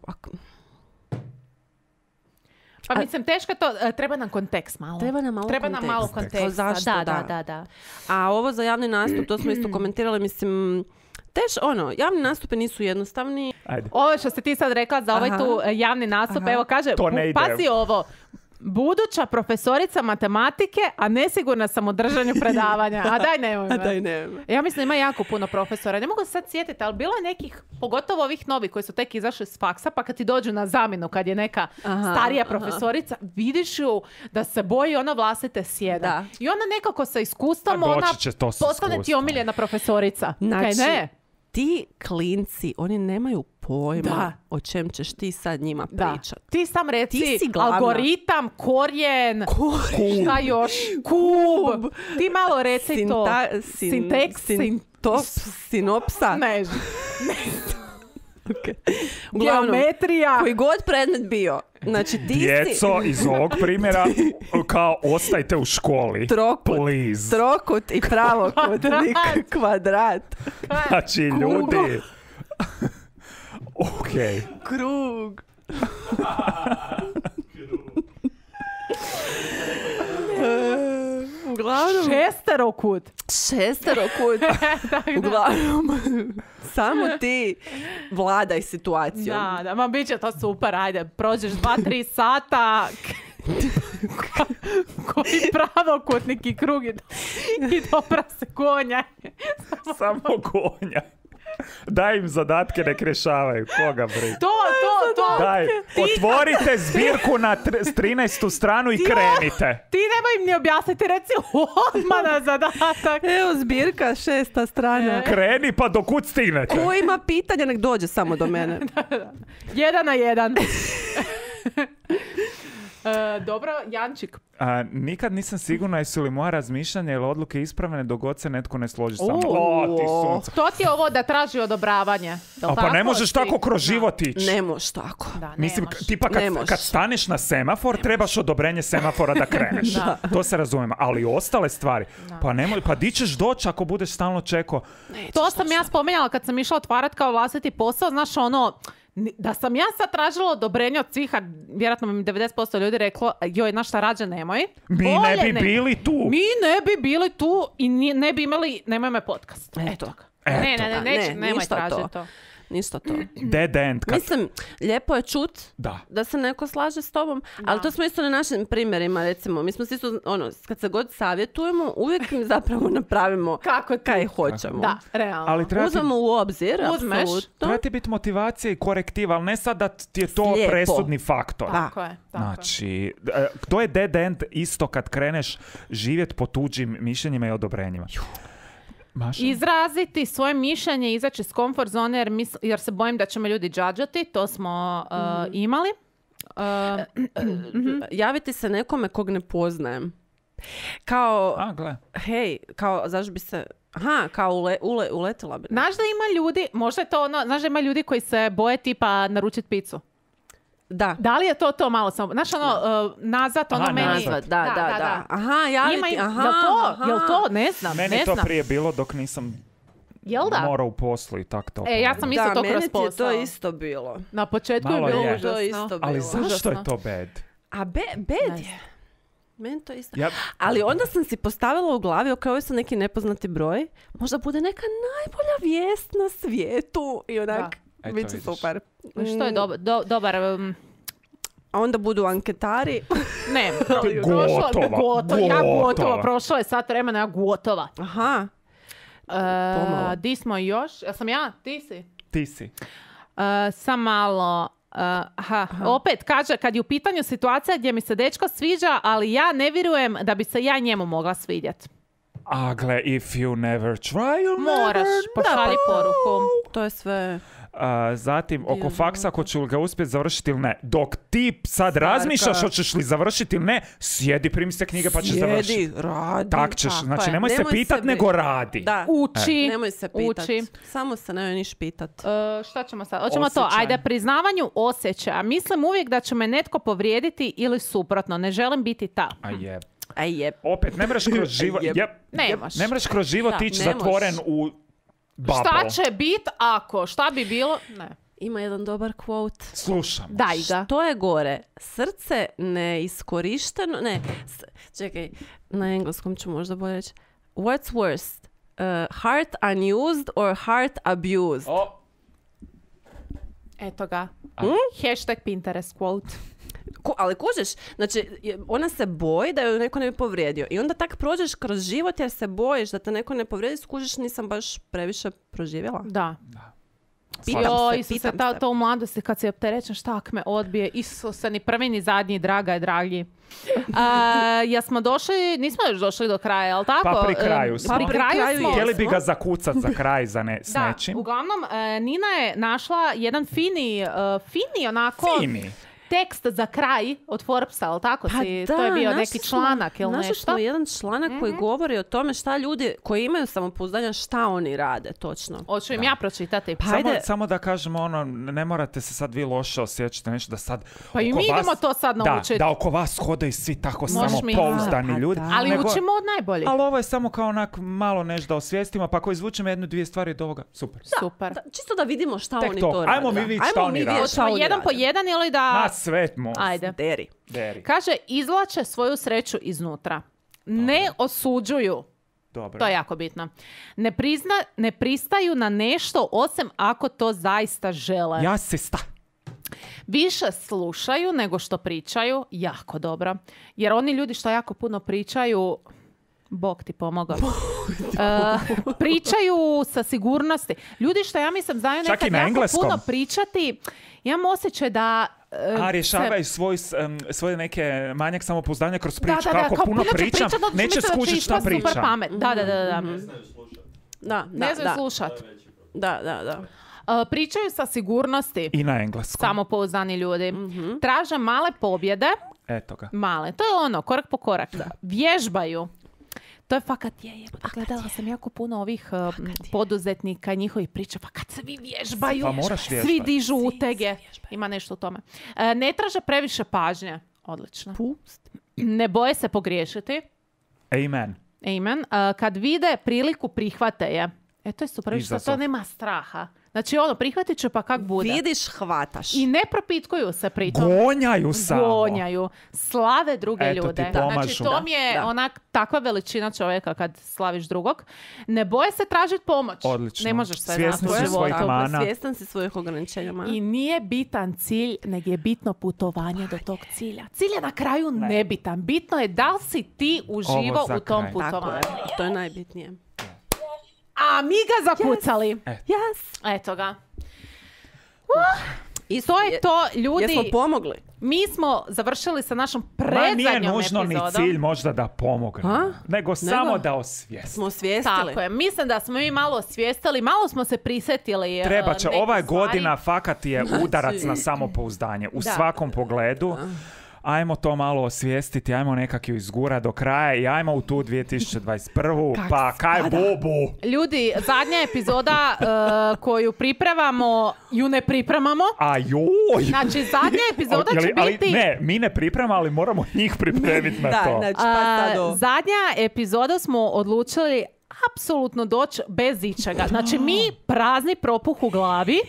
Pa mislim, teško je to, treba nam kontekst malo. Treba nam malo konteksta. Zašto, Da. A ovo za javni nastup, to smo isto komentirali, mislim... javni nastupi nisu jednostavni. Ajde. Ovo što si ti sad rekla za ovaj Aha. tu javni nastup, evo kaže, To ne ide. pazi ovo, buduća profesorica matematike, a nesigurna sam u držanju predavanja. A daj nemoj me. nema. Ja mislim ima jako puno profesora. Ne mogu se sad sjetiti, ali bilo je nekih, pogotovo ovih novih koji su tek izašli s faksa, pa kad ti dođu na zamjenu, kad je neka starija profesorica, vidiš ju da se boji ona vlastite sjede. Da. I ona nekako sa iskustvom, A doći ona će to s postane ti iskustvom. omiljena profesorica. Znači, Kaj ne? ti klinci, oni nemaju pojma Da. o čem ćeš ti sad njima Da. pričat. Ti sam reci Ti si glavna. algoritam, korijen, šta još? Kub. Ti malo reci to. Sinteks, Sinopsa. ne, Uglavnom, geometrija. koji god predmet bio. Znači ti si Djeco iz ovog primjera kao ostajte u školi. Please. trokut i pravokutnik, kvadrat, Znači, ljudi. Okej. krug. Uglavnom, šesterokut. Uglavnom, samo ti vladaj situacijom. Da, ma bit će to super, ajde, prođeš 2-3 sata, koji pravokutnik i krug i dobra se konja. Samo konja. Daj im zadatke, nek rješavaju. Koga briga? To. Daj, otvorite zbirku na 13. stranu i krenite. Ti nemoj im ni objasniti, reci odmah na zadatak. Evo zbirka, 6. strana. Kreni pa do kud stignete. Ko ima pitanja, nek dođe samo do mene. 1 na 1. Dobro, Jančik. Nikad nisam sigurna jesu li moja razmišljanja ili odluke ispravne dok god se netko ne složi sa mnom. Ti sunce. To ti je ovo da traži odobravanje. Pa ne možeš tako kroz život ići. Ne možeš tako. Da, ne Mislim, možeš. tipa kad staneš na semafor, trebaš odobrenje semafora da kreneš. To se razumijemo. Ali ostale stvari, pa di ćeš doći ako budeš stalno čekao? To sam ja spomenjala kad sam išla otvarati kao vlastiti posao, znaš ono, da sam ja sad tražila odobrenje od svih, a vjerojatno mi 90% ljudi reklo, joj, znaš šta, rađe nemoj. Mi ne bi bili tu. Mi ne bi bili tu i ne bi imali, nemoj me podcast. Eto. Nemoj tražiti to. Ništa to. Dead end. Mislim, lijepo je čut da se neko slaže s tobom, ali to smo isto na našim primjerima, recimo. Mi smo isto, kad se god savjetujemo, uvijek mi zapravo napravimo kaj hoćemo. Da, realno. Ali uzmemo u obzir, apsolutno. Treba ti biti motivacija i korektiva, ali ne sad da ti je to Slijepo. presudni faktor. Tako je. Znači, to je dead end isto kad kreneš živjeti po tuđim mišljenjima i odobrenjima. Maša? Izraziti svoje mišljenje, izaći iz komfort zone jer se bojim da će me ljudi džadžati, to smo imali. Javiti se nekome kog ne poznajem. Kao, hej, kao, zašto bi se... kao uletila bi. Znaš da ima ljudi, možda je to ono, znaš da ima ljudi koji se boje tipa naručiti picu? Da li je to malo samo? Znaš nazad, meni... Nazad, da. Aha, javiti, Jel to? Ne znam. Meni to prije bilo dok nisam morao u poslu i tak to. Ja sam isto to kroz posao. Da, meni ti je to isto bilo. Na početku je bilo užasno. To isto bilo. Ali zašto je to bad? Bad je. Meni to isto. Ali onda sam si postavila u glavi, ovo su neki nepoznati broj, možda bude neka najbolja vijest na svijetu i onak... Bit će super. Što je dobar... A onda budu anketari. Ne, gotova. Prošlo je sat vremena, ja gotova. Aha. Di smo još? Ja sam ja? Ti si. Sam malo... Opet kaže, kad je u pitanju situacija gdje mi se dečko sviđa, ali ja ne vjerujem da bi se ja njemu mogla svidjeti. Gle, if you never try, you'll moraš, pošalji poruku. To je sve... Zatim, oko faksa, ako ću ga uspjeti završiti ili ne. Dok ti sad razmišljaš hoćeš li završiti ili ne, sjedi, primi se knjige pa ćeš završiti. Sjedi, radi. Tak ćeš, znači nemoj se pitat, nego radi. Da. Uči. Nemoj se pitat. Samo se nemoj niš pitat. Šta ćemo sad? Hoćemo to. Ajde, priznavanju osjećaja. Mislim uvijek da će me netko povrijediti ili suprotno. Ne želim biti ta. Opet, ne mreš kroz život. Ne mreš kroz život ići zatvoren u bubble. Šta će bit ako? Šta bi bilo? Ne. Ima jedan dobar quote. Slušam. Daj ga. Što je gore? Srce neiskorišteno? Ne. Čekaj, na engleskom ću možda bolje reći. What's worst? Heart unused or heart abused? Eto ga. Hashtag Pinterest quote. Ali kužiš, znači ona se boji da ju neko ne bi povrijedio i onda tak prođeš kroz život jer se bojiš da te neko ne povrijedi, skužiš nisam baš previše proživjela. Da. Pitam se. To u mladosti kad si opterećen, šta ak me odbije, Isuse, ni prvi ni zadnji, draga je dragi. Jesmo došli, nismo još došli do kraja, jel tako? Pa pri kraju smo. Htjeli bi ga zakucat za kraj s nečim. Uglavnom, Nina je našla jedan fini onako... tekst za kraj od Forbesa, ali tako si? To je bio neki članak ili nešto? Našli smo jedan članak koji govori o tome šta ljudi koji imaju samopouzdanja, šta oni rade, točno. Hoću im ja pročitati. Samo da kažemo ne morate se sad vi loše osjećati nešto da sad... Pa i mi idemo to sad naučiti. Da oko vas hodaju svi tako samopouzdani ljudi. Ali učimo od najboljih. Ali ovo je samo kao onak malo nešto da osvijestimo, pa ako izvučemo 1-2 stvari od ovoga, super. Super. Čisto da vidimo šta oni to rade. Ajmo mi vidjeti šta oni rade. Hoćemo jedan po jedan ili da... Svet most. Ajde. Deri. Kaže, izvlače svoju sreću iznutra. Ne osuđuju. Dobro. To je jako bitno. Ne pristaju na nešto osim ako to zaista žele. Više slušaju nego što pričaju. Jako dobro. Jer oni ljudi što jako puno pričaju... Bog ti pomogao. Pričaju sa sigurnosti. Ljudi što ja mislim znaju nekad jako puno pričati, imam osjećaj da rješavaju svoje neke manjak samopouzdanja kroz priču. Kako puno pričam, neće skužiti šta pričam. Da. Ne znaju slušat. Da. Pričaju sa sigurnosti. I na engleskom. Samopouzdani ljudi. Traže male pobjede. Eto ga. Male. To je ono, korak po korak. Vježbaju. To je fakat gledala sam jako puno ovih poduzetnika i njihovih priča. Fakat se vi vježbaju. Pa moraš Svi vježbati. dižu utege. Ima nešto u tome. Ne traže previše pažnje. Odlično. Ne boje se pogriješiti. Amen. Amen. Kad vide priliku, prihvate je. To je super. Što to Izazov. nema straha. Znači prihvatit će pa kak bude. Vidiš, hvataš. I ne propitkuju se pritom. Gonjaju samo. Gonjaju. Slave druge Eto ti ljude. pomažu. Znači to mi je onak takva veličina čovjeka kad slaviš drugog. Ne boje se tražiti pomoć. Odlično. Ne možeš sve Svjesni znati u su svojih životu. mana. Svjestan si svojih ograničenja. I nije bitan cilj, nego je bitno putovanje do tog cilja. Cilj je na kraju nebitan. Bitno je da li si ti uživo Ovo za u tom kraj. Tako putovanju. je. To je najbitnije. A mi ga zakucali. Yes. Eto ga. I To je to, ljudi. Jesmo pomogli? Mi smo završili sa našom Ma nije predzadnjom nužno epizodom. ni cilj možda da pomogne, nego samo da osvijesti. Smo osvijestili. Tako je. Mislim da smo mi malo osvijestili, malo smo se prisjetili. Treba će, nekih ova je stvari. godina fakat je udarac na samopouzdanje u Da. svakom pogledu. Ajmo to malo osvijestiti, ajmo nekak ju izgura do kraja i ajmo u tu 2021. Pa kaj bobu? Ljudi, zadnja epizoda koju pripremamo, ju ne pripremamo. A joj! Znači, zadnja epizoda će Ali biti... ne, mi ne pripremamo, ali moramo njih pripremiti na Da, to. znači, pa sad zadnja epizoda smo odlučili apsolutno doći bez ičega. Znači, mi prazni propuh u glavi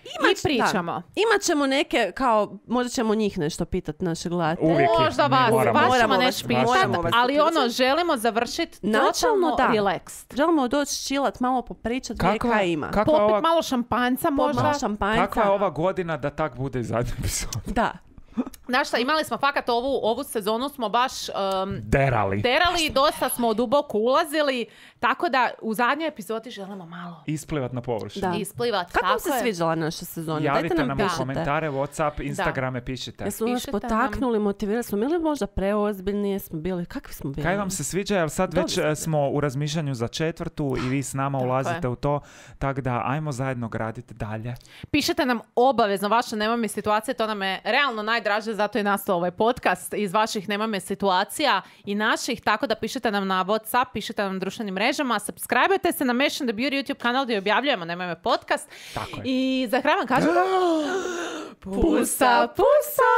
i pričamo. Da. Imat ćemo neke, kao, možda ćemo njih nešto pitati naše gledatelje. Uvijek ih Možda mi vas moramo. ćemo Moramo nešto vas- pitati, moramo vas ali pitati. želimo završiti Načelno totalno da. relaxed. Želimo doći čilat, malo popričat, vidjeti kaj ima. Kakva Popit ova, malo šampanjca možda. Malo šampanjca. kakva je ova godina da tak bude i zadnja epizoda? Da. Znaš šta, imali smo fakat ovu sezonu smo baš Derali. terali, dosta smo duboko ulazili, tako da u zadnjoj epizodi želimo malo Isplivat na površinu. Da. isplivati. Kako vam Tako se je. sviđala naša sezona? Javite Dajte nam u pišite. komentare, Whatsapp, Instagrame, pišite. Jesu nas Pišite nam. potaknuli, motivirali smo, bili možda preozbiljni, jesmo bili, kakvi smo bili? Kaj vam se sviđa, jer sad već smo u razmišljanju za 4. i vi s nama ulazite u to, tako da ajmo zajedno graditi dalje. Pišite nam obavezno vaše Nema me situacije, to nam je realno najdraže, zato je nastao ovaj podcast iz vaših Nema me situacija i naših, tako da pišete nam na WhatsApp, pišete nam na društvenim mrežama, subscribe-ajte se na Mesh and the Beauty YouTube kanal gdje objavljujemo Nema me podcast. Tako je. I za kraj vam kažem pusa, pusa!